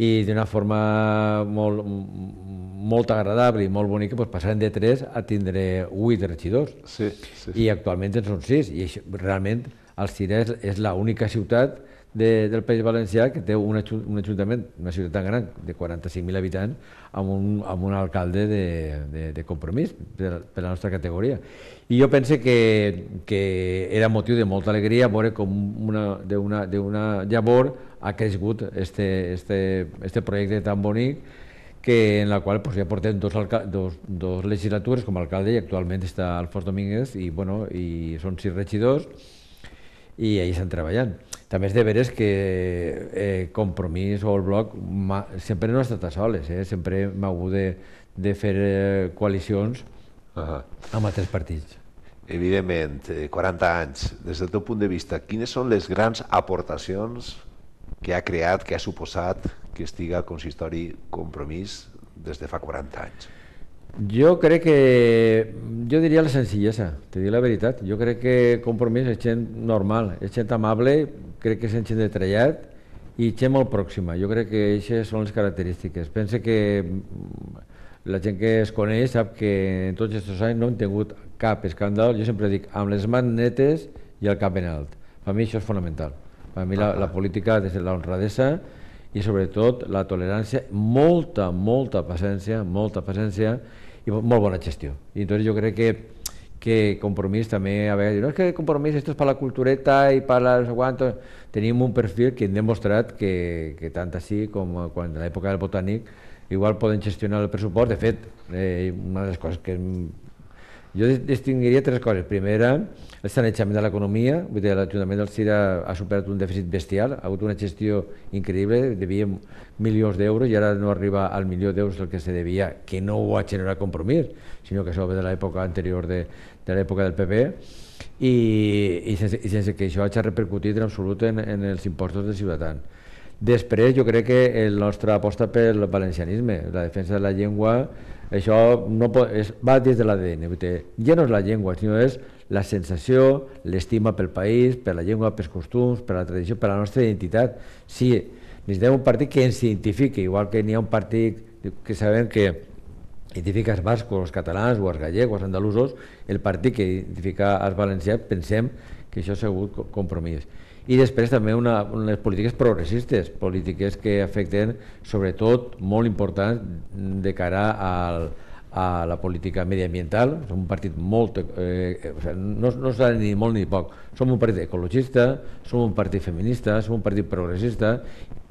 i d'una forma molt agradable i molt bonica, passaren de 3 a tindre 8 regidors. Sí. I actualment en són 6. I realment Alzira és l'única ciutat del País Valencià que té un ajuntament, una ciutat tan gran, de 45.000 habitants, amb un alcalde de Compromís, per la nostra categoria. I jo penso que era motiu de molta alegria veure com d'una llavor ha crescut este projecte tan bonic, en la qual ja portem dos legislatures com a alcalde, i actualment està Alfons Domínguez, i són 6 regidors, i ahí estan treballant. També és de veres que Compromís o el Bloc sempre no ha estat a soles, sempre hem hagut de fer coalicions amb altres partits. Evidentment, 40 anys, des del teu punt de vista, quines són les grans aportacions que ha creat, que ha suposat que estiga al consistori Compromís des de fa 40 anys? Jo crec jo diria la senzillesa, te dic la veritat. Jo crec que Compromís és gent normal, és gent amable, crec que és gent de trellat i gent molt pròxima. Jo crec que aquestes són les característiques. Penso que la gent que es coneix sap que en tots aquests anys no hem tingut cap escàndol. Jo sempre dic, amb les mans netes i el cap ben alt. Per mi això és fonamental. Per mi la política ha de ser l'honradesa i sobretot la tolerància, molta paciència i molt bona gestió. I entonces jo crec que Compromís també a vegades diu, no, és que Compromís esto es para la cultureta i para no sé cuánto. Tenim un perfil que hem demostrat que tant així com quan a l'època del Botànic igual poden gestionar el pressupost. De fet, una de les coses que jo distingiria 3 coses. Primera, el sanejament de l'economia. L'Ajuntament d'Alzira ha superat un dèficit bestial, ha hagut una gestió increïble, devíem milions d'euros i ara no arriba al milió d'euros el que se devia, que no ho ha generat Compromís, sinó que això ve de l'època anterior de l'època del PP, i sense que això hagi repercutit en absolut en els impostos dels ciutadans. Després, jo crec que la nostra aposta pel valencianisme, la defensa de la llengua, això va des de l'ADN. Ja no és la llengua, sinó és la sensació, l'estima pel país, per la llengua, pels costums, per la tradició, per la nostra identitat. Sí, necessitem un partit que ens identifiqui, igual que n'hi ha un partit que sabem que identifica els bascos, els catalans, o els gallegos, els andalusos, el partit que identifica els valencians, pensem que això ha sigut Compromís. I després també unes polítiques progressistes, polítiques que afecten sobretot molt importants de cara a la política mediambiental. Som un partit no s'ha ni molt ni poc, som un partit ecologista, som un partit feminista, som un partit progressista,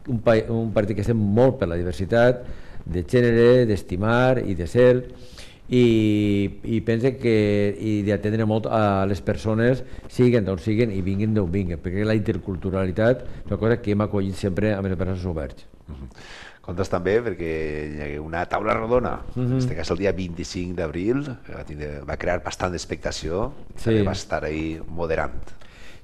un partit que estem molt per la diversitat de gènere, d'estimar i de ser, i penso que d'atendre molt a les persones, siguen d'on siguen i vinguin d'on vinguin, perquè la interculturalitat és una cosa que hem acollit sempre amb els braços oberts. Comptes també perquè hi ha una taula rodona, en aquest cas el dia 25 d'abril, va crear bastant d'expectació, també va estar ahí moderant.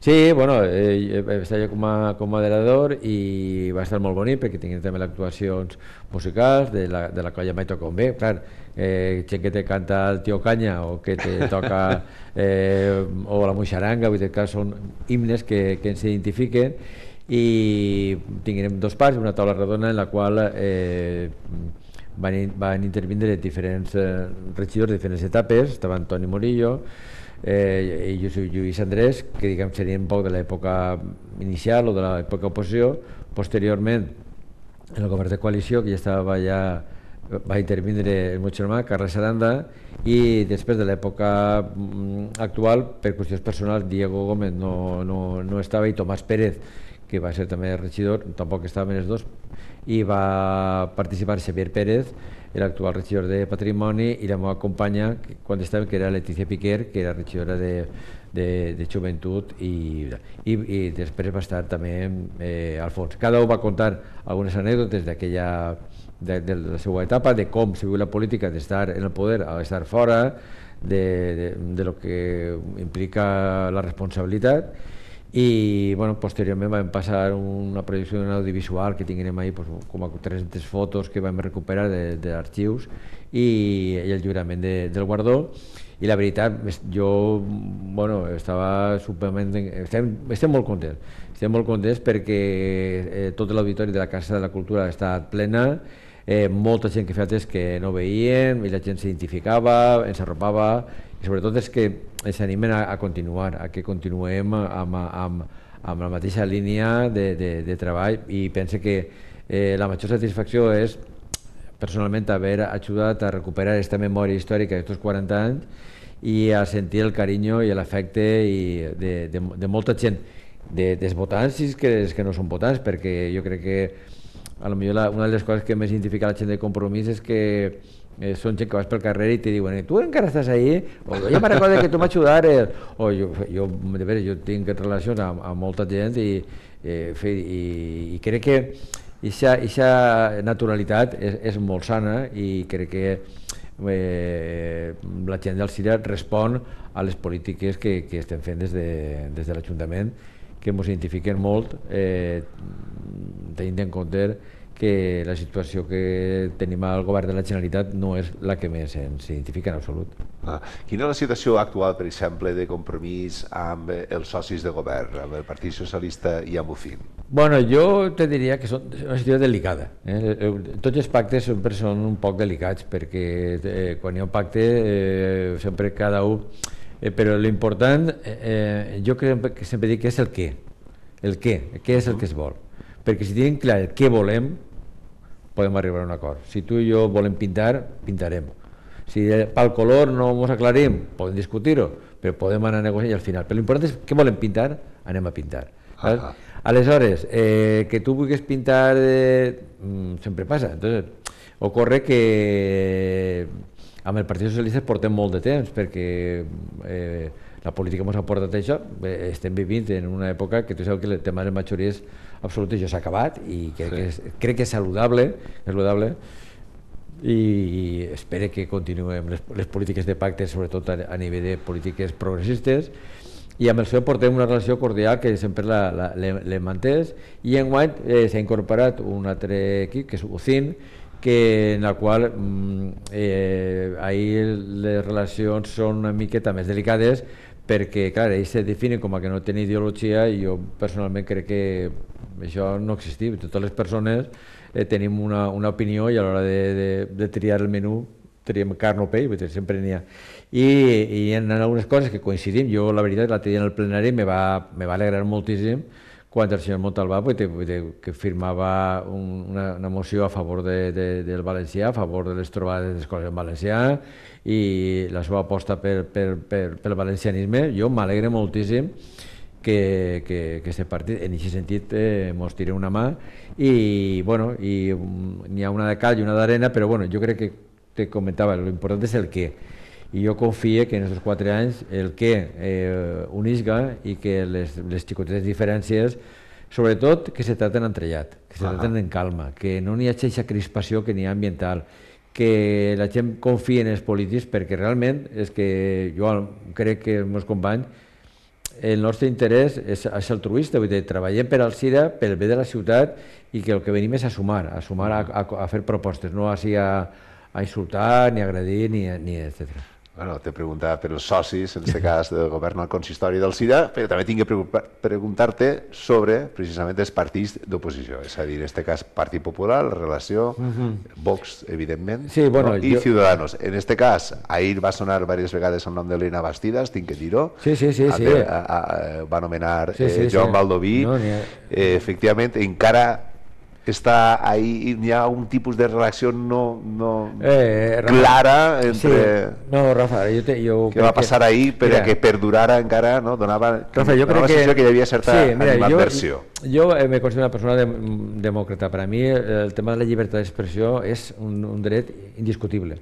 Sí, bueno, estava jo com a moderador i va estar molt bonic perquè tinguin també les actuacions musicals de la colla Mai Toca un Bé. Clar, gent que te canta el Tio Canya o que te toca o la Moixaranga, vull dir que són himnes que ens identifiquen, i tinguem 2 parts, una taula redona en la qual van intervindre diferents regidors de diferents etapes. Estava Antoni Murillo, i jo soy Lluís Andrés, que diguem seria un poc de l'època inicial o de l'època oposició. Posteriorment, en el govern de coalició, que ja estava va intervindre el meu germà, Carles Aranda, i després de l'època actual, per qüestions personals, Diego Gómez no estava, i Tomàs Pérez, que va ser també regidor, tampoc estaven els dos, i va participar Xavier Pérez, l'actual regidor de Patrimoni, i la meva companya, quan estava, que era Letícia Piquer, que era regidora de Joventut, i després va estar també Alfons. Cada un va contar algunes anècdotes de la seva etapa, de com se viu la política, d'estar en el poder a estar fora, de lo que implica la responsabilitat. I bueno, posteriorment vam passar una projecció d'un audiovisual que tinguem ahí pues, com a 300 fotos que vam recuperar d'arxius i el lliurament del guardó. I la veritat, jo bueno, estava superment... Estem molt contents perquè tot l'auditori de la Casa de la Cultura ha estat plena, molta gent que feia temps que no veien i la gent s'identificava, ens arropava i sobretot és que ens animen a continuar, a que continuem amb la mateixa línia de treball i pense que la major satisfacció és personalment haver ajudat a recuperar aquesta memòria històrica d'aquests 40 anys i a sentir el carinyo i l'afecte de molta gent, dels votants i que no són votants, perquè jo crec que a lo millor una de les coses que més identifica la gent de Compromís és que són gent que vas pel carrer i te diuen tu encara estàs ahí? O jo me recordo que tu m'ajudares. O jo tinc relacions amb molta gent i crec que aquesta naturalitat és molt sana i crec que la gent del CIRA respon a les polítiques que estem fent des de l'Ajuntament, que ens identifiquen molt, tenint en compte que la situació que tenim al govern de la Generalitat no és la que més ens identifica en absolut. Quina és la situació actual, per exemple, de Compromís amb els socis de govern, amb el Partit Socialista i amb UCIN? Bueno, jo te diria que és una situació delicada. Tots els pactes sempre són un poc delicats perquè quan hi ha un pacte sempre cada un... Però l'important, jo crec que sempre dic que és el què. El què és el que es vol. Perquè si tenim clar el què volem, podem arribar a un acord. Si tu i jo volem pintar, pintarem. Si pel color no ens aclarim, podem discutir-ho, però podem anar a negociar i al final. Però l'important és què volem pintar, anem a pintar. Aleshores, que tu vulguis pintar sempre passa. Entonces, ocorre que amb el Partit Socialista portem molt de temps perquè la política ens ha portat això. Estem vivint en una època que tu saps que el tema de les majories absolutes ja s'ha acabat i crec que és saludable i espero que continuem les polítiques de pacte, sobretot a nivell de polítiques progressistes, i amb el PSOE portem una relació cordial que sempre l'hem mantès i enguany s'ha incorporat un altre equip que és UCIN, en la qual ahir les relacions són una miqueta més delicades perquè, clar, ells se definen com a que no tenen ideologia i jo personalment crec que això no existia. Totes les persones tenim una opinió i a l'hora de triar el menú triem carn o pell, sempre n'hi ha. I en algunes coses que coincidim, jo la veritat l'altre dia en el plenari me va alegrar moltíssim quan el senyor Montalbà que firmava una moció a favor del valencià, a favor de les trobades d'escoles en valencià i la seva aposta pel valencianisme. Jo m'alegre moltíssim que aquest partit, en aquest sentit, mos tira una mà i n'hi ha una de cal i una d'arena, però jo crec que te comentava, l'important és el què. I jo confio que en aquests 4 anys el què unisga i que les xicotetes diferències, sobretot que se traten entrellat, que se traten en calma, que no n'hi hagi aquesta crispació que n'hi ha ambiental, que la gent confia en els polítics perquè realment és que jo crec que els meus companys el nostre interès és altruista, vull dir, treballem per al CIRA, pel bé de la ciutat i que el que venim és a sumar a fer propostes, no a insultar, ni agredir, ni etc. Bueno, te preguntava per els socis, en aquest cas del govern al consistori del CIRA, però també tinc que preguntar-te sobre precisament els partits d'oposició, és a dir, en aquest cas Partit Popular, la relació, Vox, evidentment, i Ciudadanos. En aquest cas, ahir va sonar diverses vegades el nom d'Elena Bastidas, tinc que dir-ho, va anomenar Joan Baldoví, efectivament, encara està ahí, hi ha un tipus de relació no clara entre... No, Rafa, què va passar ahir perquè perdurara encara, no? Donava la sensació que hi havia certa animadversió. Jo me considero una persona demòcrata. Per a mi el tema de la llibertat d'expressió és un dret indiscutible.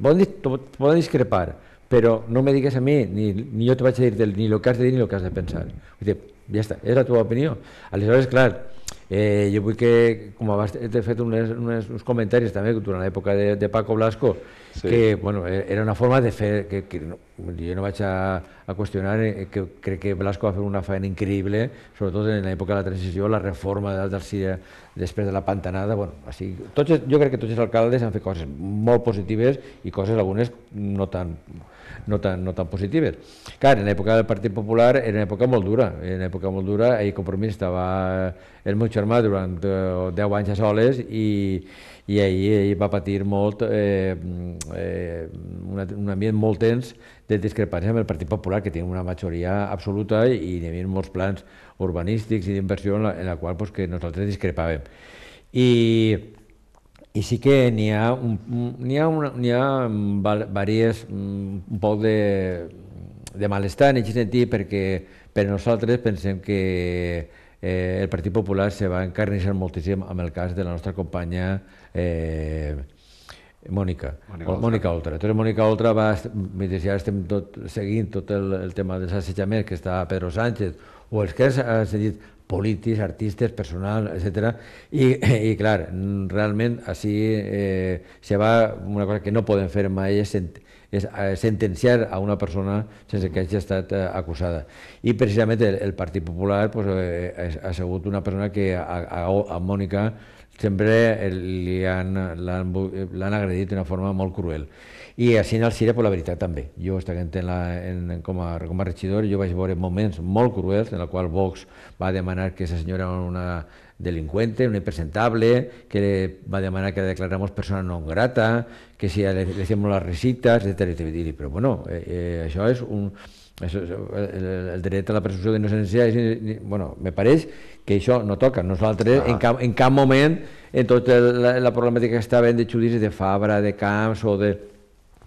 Poden discrepar, però no me digues a mi, ni jo te vaig a dir ni el que has de dir ni el que has de pensar. Ja està, és la teva opinió. Aleshores, clar, Jo vull que, com abans he fet uns comentaris també durant l'època de Paco Blasco, que era una forma de fer, que jo no vaig a qüestionar, que crec que Blasco va fer una feina increïble, sobretot en l'època de la transició, la reforma del CIRA després de la pantanada. Jo crec que tots els alcaldes han fet coses molt positives i coses algunes no tan positives. Clar, en l'època del Partit Popular era una època molt dura, ahir Compromís estava el meu germà durant 10 anys a soles i ahir va patir molt un ambient molt tens de discrepància amb el Partit Popular, que tenia una majoria absoluta i hi havia molts plans urbanístics i d'inversió en la qual que nosaltres discrepàvem. I sí que n'hi ha diverses un poc de malestar en aquest sentit, perquè per nosaltres pensem que el Partit Popular se va encarnissar moltíssim amb el cas de la nostra companya Mònica Oltra. Entonces Mònica Oltra mentre ja estem seguint tot el tema dels assetjaments que està Pedro Sánchez o els que has dit polítics, artistes, personal, etc. I clar, realment així se va, una cosa que no podem fer mai és sentenciar a una persona sense que hagi estat acusada. I precisament el Partit Popular ha sigut una persona que a Mònica sempre l'han agredit d'una forma molt cruel. I així en el CIRA, la veritat també. Jo, com a regidor, jo vaig veure moments molt cruels en els quals Vox va demanar que aquesta senyora era una delinqüente, una impresentable, que va demanar que la declaráramos persona non grata, que si le hacíamos las risitas, etc. Però bueno, això és el dret a la presumpció d'innocència. Me pareix que això no toca. Nosaltres, en cap moment, en tota la problemàtica que està havent de judicis de Fabra, de Camps o de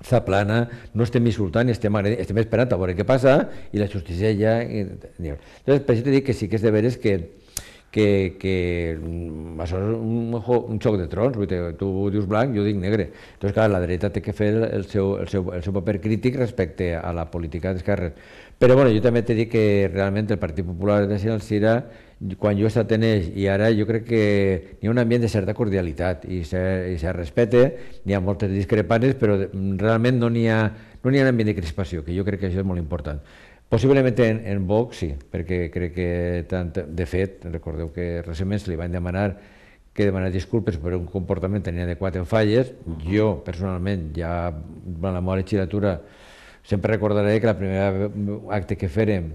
Zaplana, no estem insultant i estem esperant a veure què passa i la justícia ja... Entonces, per això t'he dit que sí que és de veres que això és un xoc de trons, tu dius blanc, jo dic negre. Entonces, clar, la dreta té que fer el seu paper crític respecte a la política d'esquerres. Però jo també t'he dit que realment el Partit Popular de el CIRA, quan jo he estat en ells, i ara jo crec que hi ha un ambient de certa cordialitat i se respecta, n'hi ha moltes discrepàncies, però realment no n'hi ha un ambient de crispació, que jo crec que això és molt important. Possiblement en Vox sí, perquè crec que, de fet, recordeu que recentment se li van demanar disculpes per un comportament tan inadequat en Falles. Jo, personalment, ja durant la meva legislatura, sempre recordaré que el primer acte que fèrem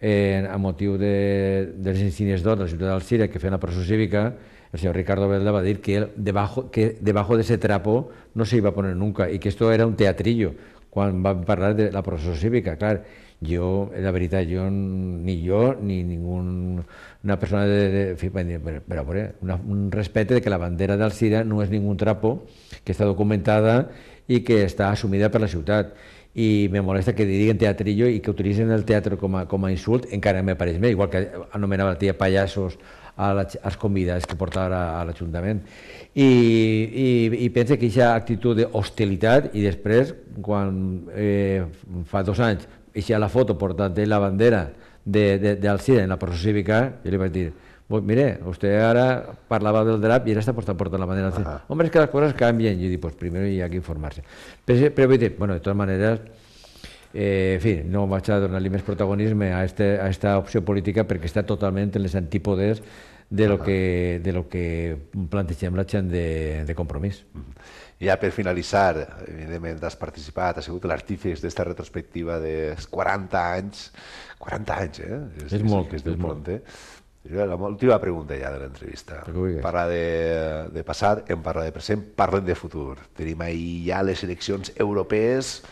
a motiu dels insígnies d'or de la ciutat d'Alzira, que feien la processó cívica, el senyor Ricardo Velda va dir que debajo de ese trapo no se iba a poner nunca y que esto era un teatrillo quan van parlar de la processó cívica. Clar, la veritat, ni ninguna persona però un respecte de que la bandera d'Alzira no és ningún trapo, que està documentada i que està assumida per la ciutat. I me molesta que diguen teatrillo i que utilitzen el teatre com a insult, encara me pareix bé, igual que anomenava la tia pallassos als convidats que portava a l'Ajuntament. I pensa que aquesta actitud d'hostilitat, i després, quan fa 2 anys, eixa la foto portant la bandera d'Alzira en la processó cívica, jo li vaig dir, mire, usted ahora parlava del drap y ahora está portando la bandera. Hombre, es que las cosas cambian. Yo digo, pues primero hay que informarse. Pero bueno, de todas maneras, en fi, no vaig a donar-li més protagonisme a esta opció política perquè està totalment en les antípodes de lo que plantegem la gent de Compromís. I ja per finalitzar, evidentment has participat, has sigut l'artífex d'esta retrospectiva dels 40 anys. 40 anys, És molt, és molt. L'última pregunta ja de l'entrevista. Parla de passat, em parla de present, parlem de futur. Tenim ahir ja les eleccions europees,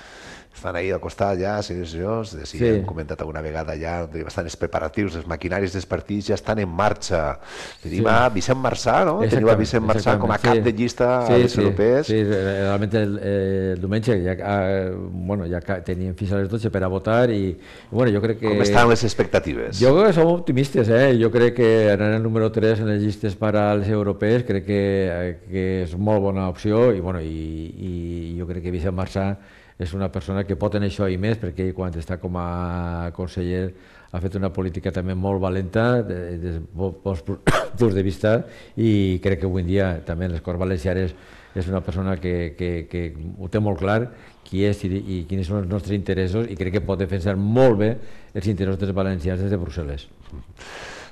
estan ahir al costat ja, senyors, hem comentat alguna vegada ja, bastant els preparatius, els maquinaris dels partits ja estan en marxa. Tenim a Vicent Marçà, no? Tenim a Vicent Marçà com a cap de llista a les europees. Sí, realment el diumenge ja tenien fins a les 12 per a votar i jo crec que... Com estan les expectatives? Jo crec que som optimistes, jo crec que anar el número 3 en les llistes per a les europees crec que és molt bona opció i jo crec que Vicent Marçà és una persona que pot tenir això i més, perquè ell quan està com a conseller ha fet una política també molt valenta, punts de vista, i crec que avui en dia també les Corts Valencianes és una persona que ho té molt clar qui és i quins són els nostres interessos, i crec que pot defensar molt bé els interessos dels valencians des de Brussel·les.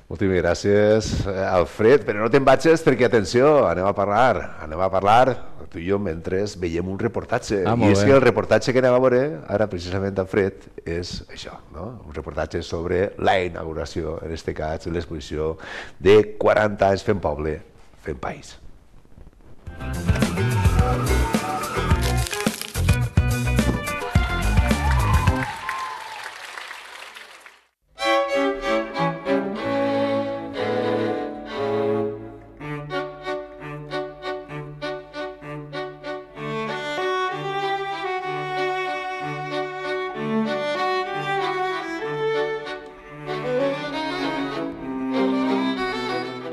Moltíssimes gràcies, Alfred, però no te'n vagis perquè, atenció, anem a parlar tu i jo mentre veiem un reportatge, i és que el reportatge que anem a veure ara precisament, Alfred, és això, un reportatge sobre la inauguració, en aquest cas l'exposició de 40 anys fent poble, fent país.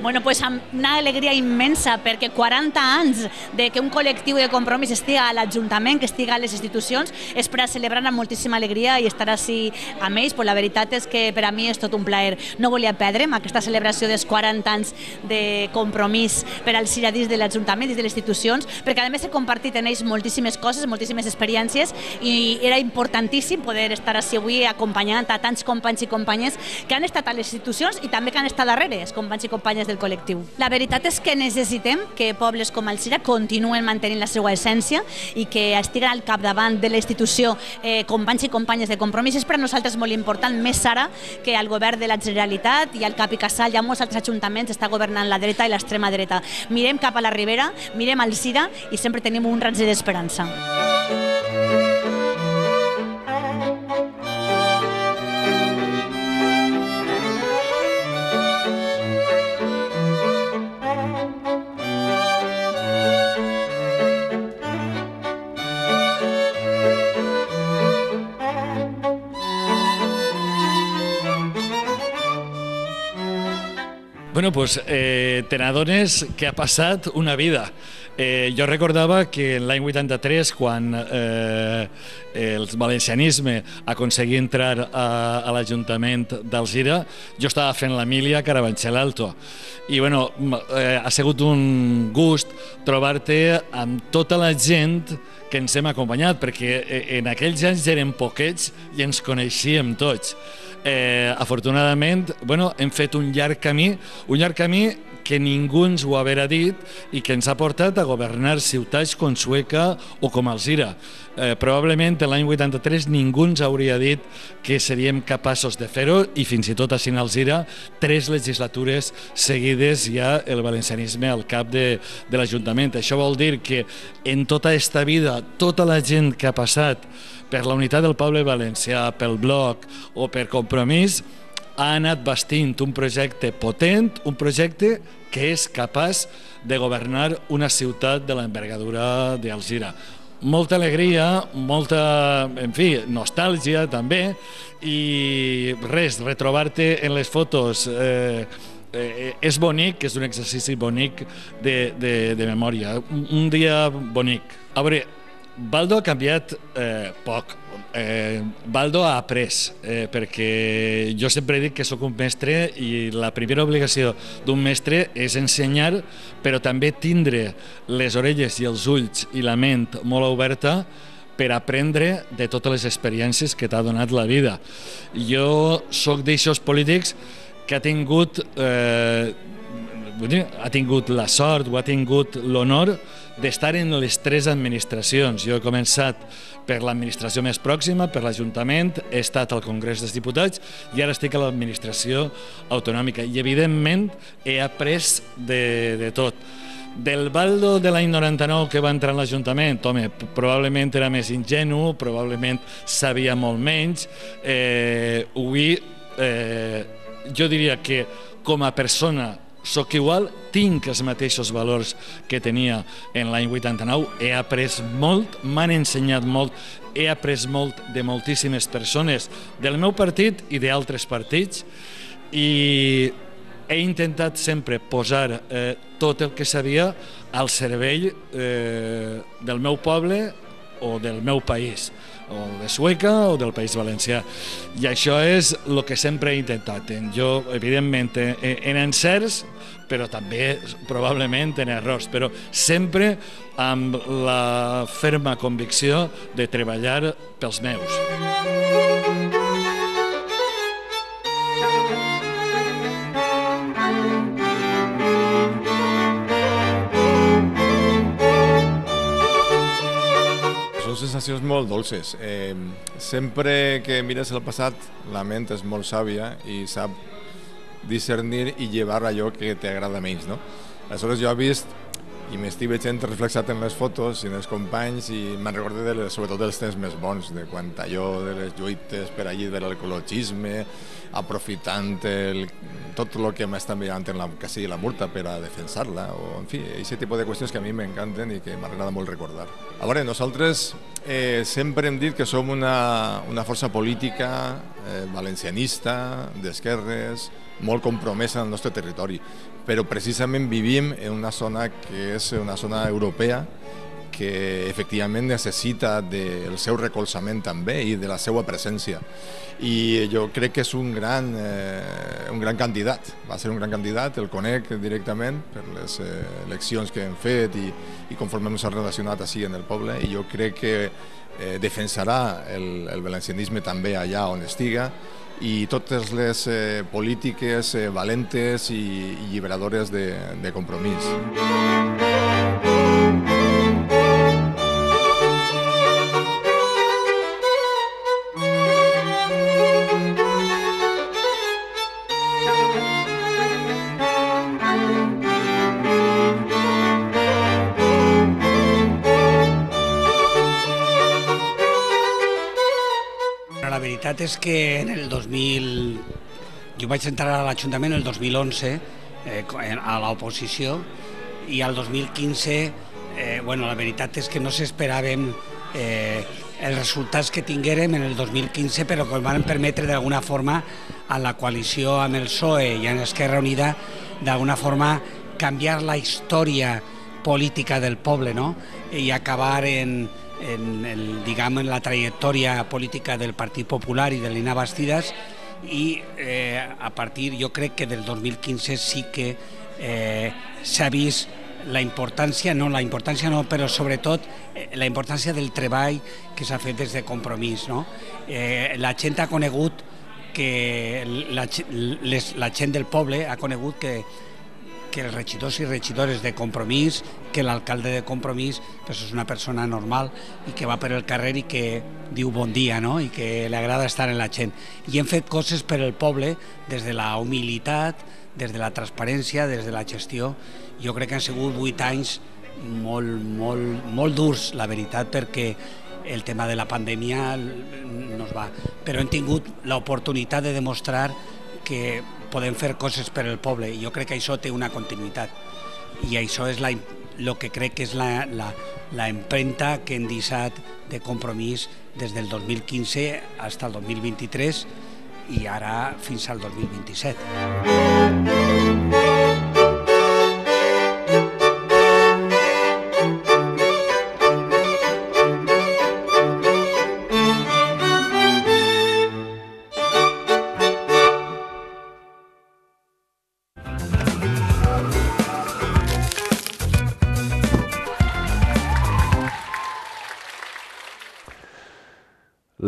Bueno, pues amb una alegria immensa, perquè 40 anys de que un col·lectiu de Compromís estiga a l'Ajuntament, que estiga a les institucions, és per a celebrar amb moltíssima alegria i estar així amb ells. Pues la veritat és que per a mi és tot un plaer. No volia perdre'm aquesta celebració dels 40 anys de Compromís per als ciradins de l'Ajuntament i de les institucions, perquè a més he compartit en ells moltíssimes coses, moltíssimes experiències, i era importantíssim poder estar així avui acompanyant a tants companys i companyes que han estat a les institucions i també que han estat darrere, els companys i companyes del col·lectiu. La veritat és que necessitem que pobles com Alzira continuen mantenint la seva essència i que estiguen al capdavant de la institució companys i companyes de Compromís. És per a nosaltres molt important, més ara que el govern de la Generalitat i el Cap i Casal i a molts altres ajuntaments està governant la dreta i l'extrema dreta. Mirem cap a la Ribera, mirem Alzira i sempre tenim un raig d'esperança. Bueno, pues te n'adones que ha passat una vida. Jo recordava que l'any 83, quan el valencianisme aconseguia entrar a l'Ajuntament d'Alzira, jo estava fent la mili a Carabanchel Alto. I bueno, ha sigut un gust trobar-te amb tota la gent que ens hem acompanyat, perquè en aquells anys érem poquets i ens coneixíem tots. Afortunadament, hem fet un llarg camí que ningú ens ho haurà dit i que ens ha portat a governar ciutats com Sueca o com Alzira. Probablement l'any 83 ningú ens hauria dit que seríem capaços de fer-ho, i fins i tot així en Alzira 3 legislatures seguides ja el valencianisme al cap de l'Ajuntament. Això vol dir que en tota aquesta vida tota la gent que ha passat per la unitat del poble valencià, pel Bloc o per Compromís, ha anat bastint un projecte potent, un projecte que és capaç de governar una ciutat de l'envergadura d'Alzira. Molta alegria, molta, nostàlgia també, i res, retrobar-te en les fotos és bonic, és un exercici bonic de memòria, un dia bonic. A veure, Baldo ha canviat poc. Baldo ha après, perquè jo sempre he dit que sóc un mestre i la primera obligació d'un mestre és ensenyar, però també tindre les orelles i els ulls i la ment molt oberta per aprendre de totes les experiències que t'ha donat la vida. Jo sóc d'aixòs polítics que ha tingut la sort o ha tingut l'honor d'estar en les 3 administracions. Jo he començat per l'administració més pròxima, per l'Ajuntament, he estat al Congrés dels Diputats i ara estic a l'administració autonòmica. I evidentment he après de tot. Del Baldo de l'any 99 que va entrar a l'Ajuntament, home, probablement era més ingenu, probablement sabia molt menys. Avui jo diria que com a persona soc igual, tinc els mateixos valors que tenia en l'any 89, he après molt, m'han ensenyat molt, he après molt de moltíssimes persones del meu partit i d'altres partits, i he intentat sempre posar tot el que sabia al servei del meu poble o del meu país. o de Sueca o del País Valencià. I això és el que sempre he intentat. Jo, evidentment, en encerts, però també probablement en errors, però sempre amb la ferma convicció de treballar pels meus. Són sensacions molt dolces. Sempre que mires el passat, la ment és molt sàvia i sap discernir i llevar allò que t'agrada menys, no? Aleshores jo he vist i m'estic veient reflexat en les fotos i en els companys i me'n recordo sobretot dels temps més bons, de quan allò de les lluites per allí de l'ecologisme, aprofitant tot el que m'estan mirant en que sigui la Murta per a defensar-la, o en fi, aquest tipus de qüestions que a mi m'encanten i que m'agrada molt recordar. A veure, nosaltres sempre hem dit que som una força política valencianista, d'esquerres, molt compromesa en el nostre territori, però precisament vivim en una zona que és una zona europea que efectivament necessita del seu recolzament també i de la seva presència. I jo crec que és un gran candidat, va ser un gran candidat, el conec directament per les eleccions que hem fet i conforme ens hem relacionat així en el poble, i jo crec que defensarà el valencianisme també allà on estiga, i totes les polítiques valentes i lliberadores de compromís. La veritat és que en el 2000... Jo vaig entrar a l'Ajuntament el 2011 a l'oposició i al 2015 la veritat és que no s'esperàvem els resultats que tinguérem en el 2015, però que van permetre d'alguna forma a la coalició amb el PSOE i amb Esquerra Unida d'alguna forma canviar la història política del poble, no? I acabar en la trajectòria política del Partit Popular i de Lina Bastidas, i a partir, jo crec que del 2015 sí que s'ha vist la importància però sobretot la importància del treball que s'ha fet des de Compromís, no? La gent ha conegut la gent del poble ha conegut que els regidors i regidores de Compromís, que l'alcalde de Compromís és una persona normal i que va per el carrer i que diu bon dia, no? I que li agrada estar en la gent. I hem fet coses per al poble des de la humilitat, des de la transparència, des de la gestió. Jo crec que han sigut 8 anys molt durs, la veritat, perquè el tema de la pandèmia no es va. Però hem tingut l'oportunitat de demostrar que podem fer coses per al poble, i jo crec que això té una continuïtat, i això és el que crec que és la empremta que hem deixat de Compromís des del 2015 fins al 2023 i ara fins al 2027.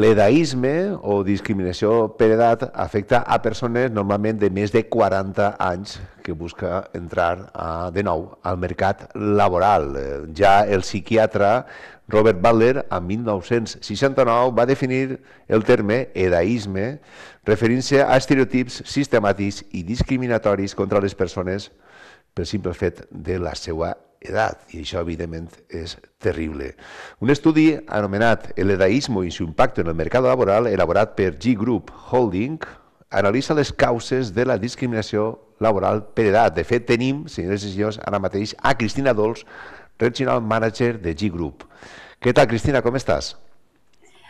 L'edaisme o discriminació per edat afecta a persones normalment de més de 40 anys que busca entrar de nou al mercat laboral. Ja el psiquiatre Robert Butler, en 1969, va definir el terme edaisme referint-se a estereotips sistemàtics i discriminatoris contra les persones pel simple fet de la seva edat, i això evidentment és terrible. Un estudi anomenat El edaísmo y su impacto en el mercado laboral, elaborat per G Group Holding, analitza les causes de la discriminació laboral per edat. De fet, tenim, senyores i senyors, ara mateix a Cristina Dols, Regional Manager de G Group. Què tal, Cristina, com estàs?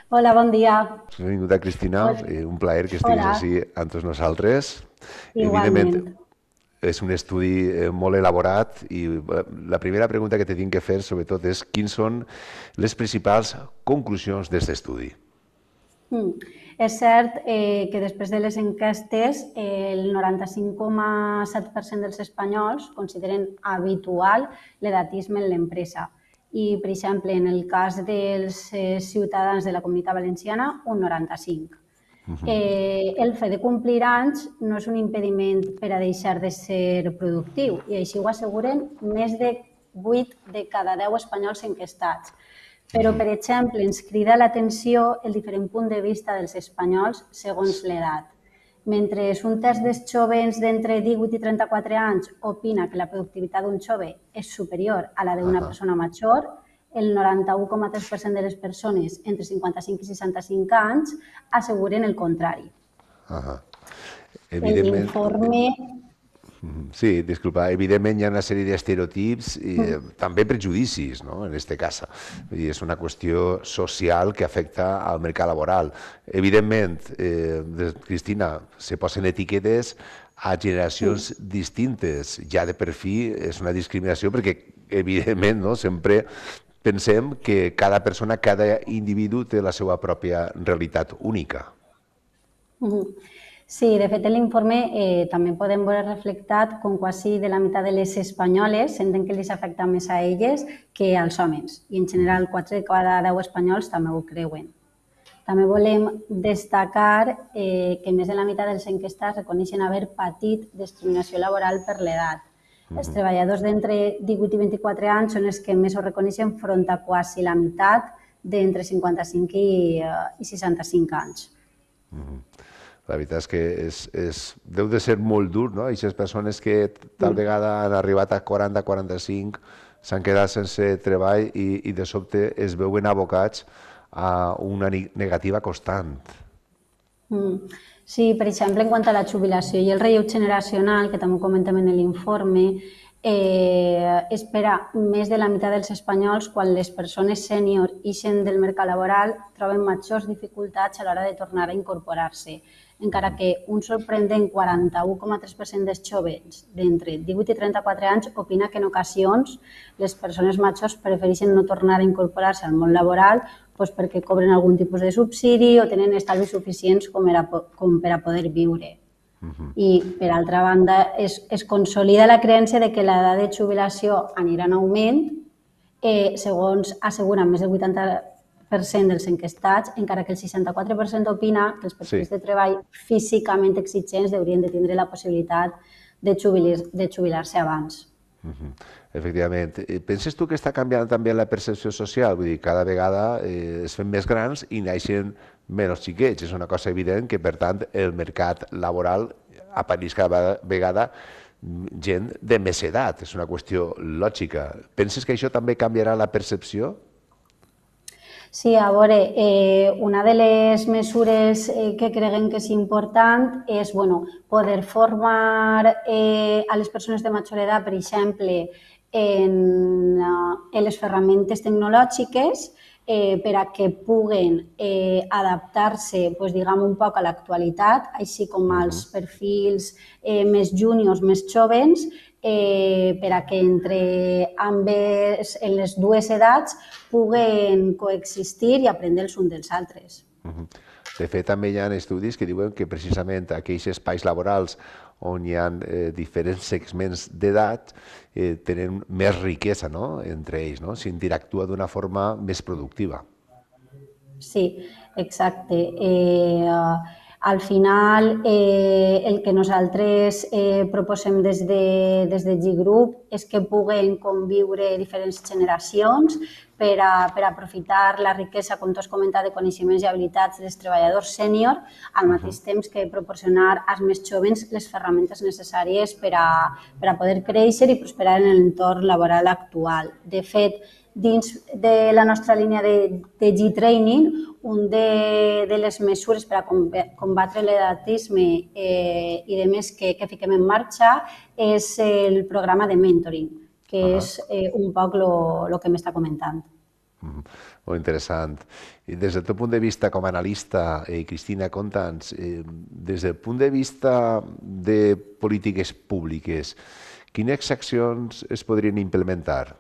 Hola, bon dia. Benvinguda, Cristina. Un plaer que estiguis així amb tots nosaltres. Igualment. És un estudi molt elaborat i la primera pregunta que te tinc que fer, sobretot, és quines són les principals conclusions d'aquest estudi? És cert que després de les enquestes el 95,7% dels espanyols consideren habitual l'edatisme en l'empresa. I, per exemple, en el cas dels ciutadans de la Comunitat Valenciana, un 95%. El fet de complir anys no és un impediment per a deixar de ser productiu i així ho asseguren més de 8 de cada 10 espanyols enquestats. Però, per exemple, ens crida l'atenció el diferent punt de vista dels espanyols segons l'edat. Mentre un terç dels jóvens d'entre 18 i 34 anys opina que la productivitat d'un jove és superior a la d'una persona major, el 91,3% de les persones entre 55 i 65 anys asseguren el contrari. L'informe... Sí, disculpa, evidentment hi ha una sèrie d'estereotips i també prejudicis, no?, en aquest cas. És una qüestió social que afecta al mercat laboral. Evidentment, Cristina, se posen etiquetes a generacions distintes. Ja de per fi és una discriminació perquè, evidentment, sempre pensem que cada persona, cada individu té la seva pròpia realitat única. Sí, de fet, en l'informe també podem veure reflectat com quasi de la meitat de les espanyoles senten que els afecta més a elles que als homes. I, en general, 4 de cada 10 espanyols també ho creuen. També volem destacar que més de la meitat dels enquestats reconeixen haver patit discriminació laboral per l'edat. Els treballadors d'entre 18 i 24 anys són els que més ho reconeixen front a quasi la meitat d'entre 55 i 65 anys. La veritat és que deu de ser molt dur, no? Aquestes persones que tal vegada han arribat a 40-45 s'han quedat sense treball i de sobte es veuen abocats a una negativa constant. Sí, per exemple, en quant a la jubilació i el relleu generacional, que també ho comentem en l'informe, és per a més de la meitat dels espanyols quan les persones sènior ixen del mercat laboral troben majors dificultats a l'hora de tornar a incorporar-se, encara que un sorprendent 41,3% dels jóvens d'entre 18 i 34 anys opina que en ocasions les persones majors prefereixen no tornar a incorporar-se al món laboral perquè cobren algun tipus de subsidi o tenen estalvis suficients com per a poder viure. I, per altra banda, es consolida la creença que l'edat de jubilació anirà en augment, segons asseguren més del 80% dels enquestats, encara que el 64% opina que els perfils de treball físicament exigents haurien de tindre la possibilitat de jubilar-se abans. Efectivament. Penses tu que està canviant també la percepció social? Vull dir, cada vegada es fem més grans i naixen menys xiquets. És una cosa evident que, per tant, el mercat laboral apareix cada vegada gent de més edat. És una qüestió lògica. Penses que això també canviarà la percepció? Sí, a veure, una de les mesures que creguem que és important és poder formar a les persones de major edat, per exemple, en les ferramentes tecnològiques per a que puguen adaptar-se un poc a l'actualitat, així com als perfils més júniors, més jóvens, per a que entre ambes, en les dues edats, puguen coexistir i aprendre els uns dels altres. De fet, també hi ha estudis que diuen que precisament aquells espais laborals on hi ha diferents segments d'edat tenen més riquesa entre ells, s'interactua d'una forma més productiva. Sí, exacte. Al final, el que nosaltres proposem des de G-Group és que puguen conviure diferents generacions per a aprofitar la riquesa, com tu has comentat, de coneixements i habilitats dels treballadors sènior, al mateix temps que proporcionar als més jóvens les ferramentes necessàries per a poder créixer i prosperar en l'entorn laboral actual. De fet, dins de la nostra línia de G-Training, una de les mesures per a combatre l'edatisme i de més que fiquem en marxa és el programa de mentoring, que és un poc el que m'està comentant. Molt interessant. I des del teu punt de vista com a analista, Cristina, conta'ns, des del punt de vista de polítiques públiques, quines accions es podrien implementar?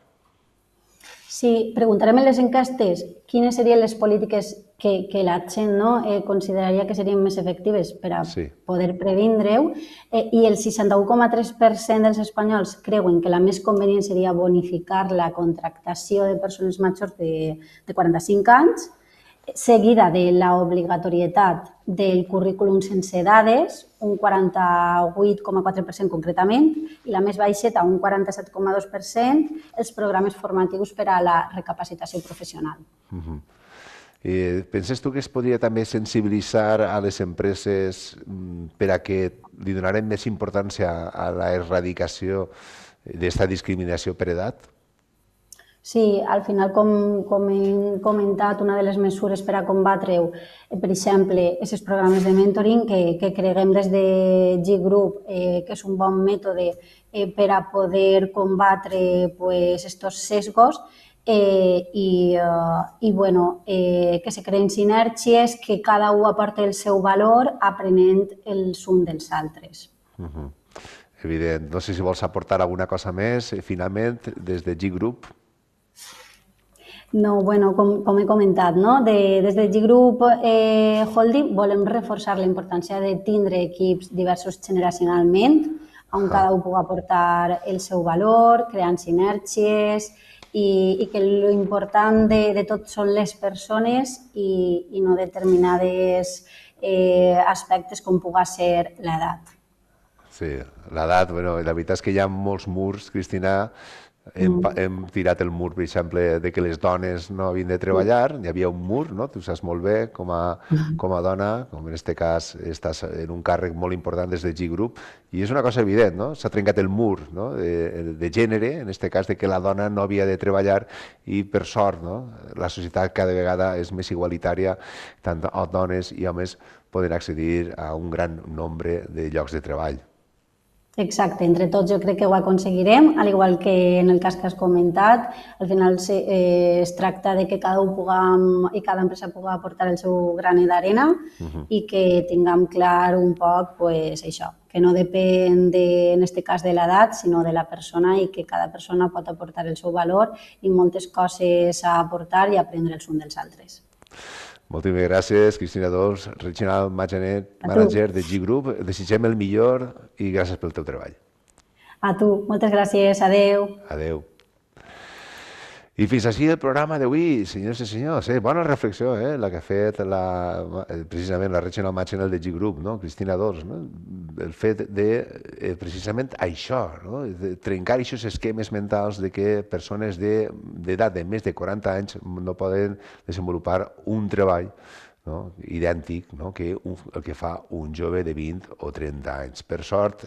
Sí, preguntarem en les enquestes quines serien les polítiques que la gent consideraria que serien més efectives per a poder previndre-ho, i el 61,3% dels espanyols creuen que la més convenient seria bonificar la contractació de persones majors de 45 anys, seguida de l'obligatorietat del currículum sense dades, un 48,4% concretament, i la més baixeta, un 47,2%, els programes formatius per a la recapacitació professional. Penses tu que es podria també sensibilitzar a les empreses per a que li donaren més importància a l'erradicació d'esta discriminació per edat? Sí, al final, com hem comentat, una de les mesures per a combatre-ho, per exemple, aquests programes de mentoring que creguem des de G-Group, que és un bon mètode per a poder combatre aquests sesgos i que se creen sinergies, que cada un aporta el seu valor aprenent els uns dels altres. Evident. No sé si vols aportar alguna cosa més, finalment, des de G-Group. No, bueno, com he comentat, des de G-Group Holding volem reforçar la importància de tindre equips diversos generacionalment, on cada un pugui aportar el seu valor, creant sinergies, i que l'important de tot són les persones i no determinades aspectes com pugui ser l'edat. Sí, l'edat, la veritat és que hi ha molts murs, Cristina. Hem tirat el mur, per exemple, de que les dones no havien de treballar, hi havia un mur, tu saps molt bé com a dona, com en aquest cas estàs en un càrrec molt important des de G-Group, i és una cosa evident, s'ha trencat el mur de gènere, en aquest cas de que la dona no havia de treballar, i per sort la societat cada vegada és més igualitària, tant dones i homes poden accedir a un gran nombre de llocs de treball. Exacte, entre tots jo crec que ho aconseguirem, al igual que en el cas que has comentat. Al final es tracta de que cada un i cada empresa pugui aportar el seu granet d'arena i que tinguem clar un poc això, que no depèn, en aquest cas, de l'edat, sinó de la persona, i que cada persona pot aportar el seu valor i moltes coses a aportar i aprendre els uns dels altres. Moltíssimes gràcies, Cristina Dols, Regional Manager de G-Group. Desitgem el millor i gràcies pel teu treball. A tu, moltes gràcies. Adéu. Adéu. I fins així el programa d'avui, senyors i senyors. Bona reflexió, la que ha fet precisament la Regional Manager de G-Group, Cristina Dols. El fet de precisament això, de trencar aquests esquemes mentals de que persones d'edat de més de 40 anys no poden desenvolupar un treball idèntic que el que fa un jove de 20 o 30 anys. Per sort,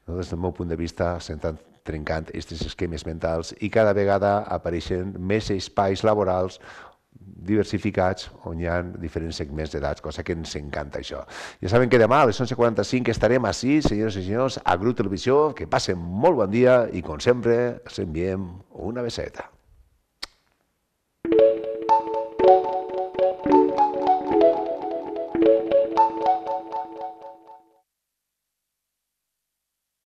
des del meu punt de vista, s'estan trencant aquests esquemes mentals i cada vegada apareixen més espais laborals diversificats on hi ha diferents segments d'edats, cosa que ens encanta això. Ja saben que demà a les 11:45 estarem així, senyors i senyors, a Grup Televisió. Que passen molt bon dia i, com sempre, els enviem una beseta.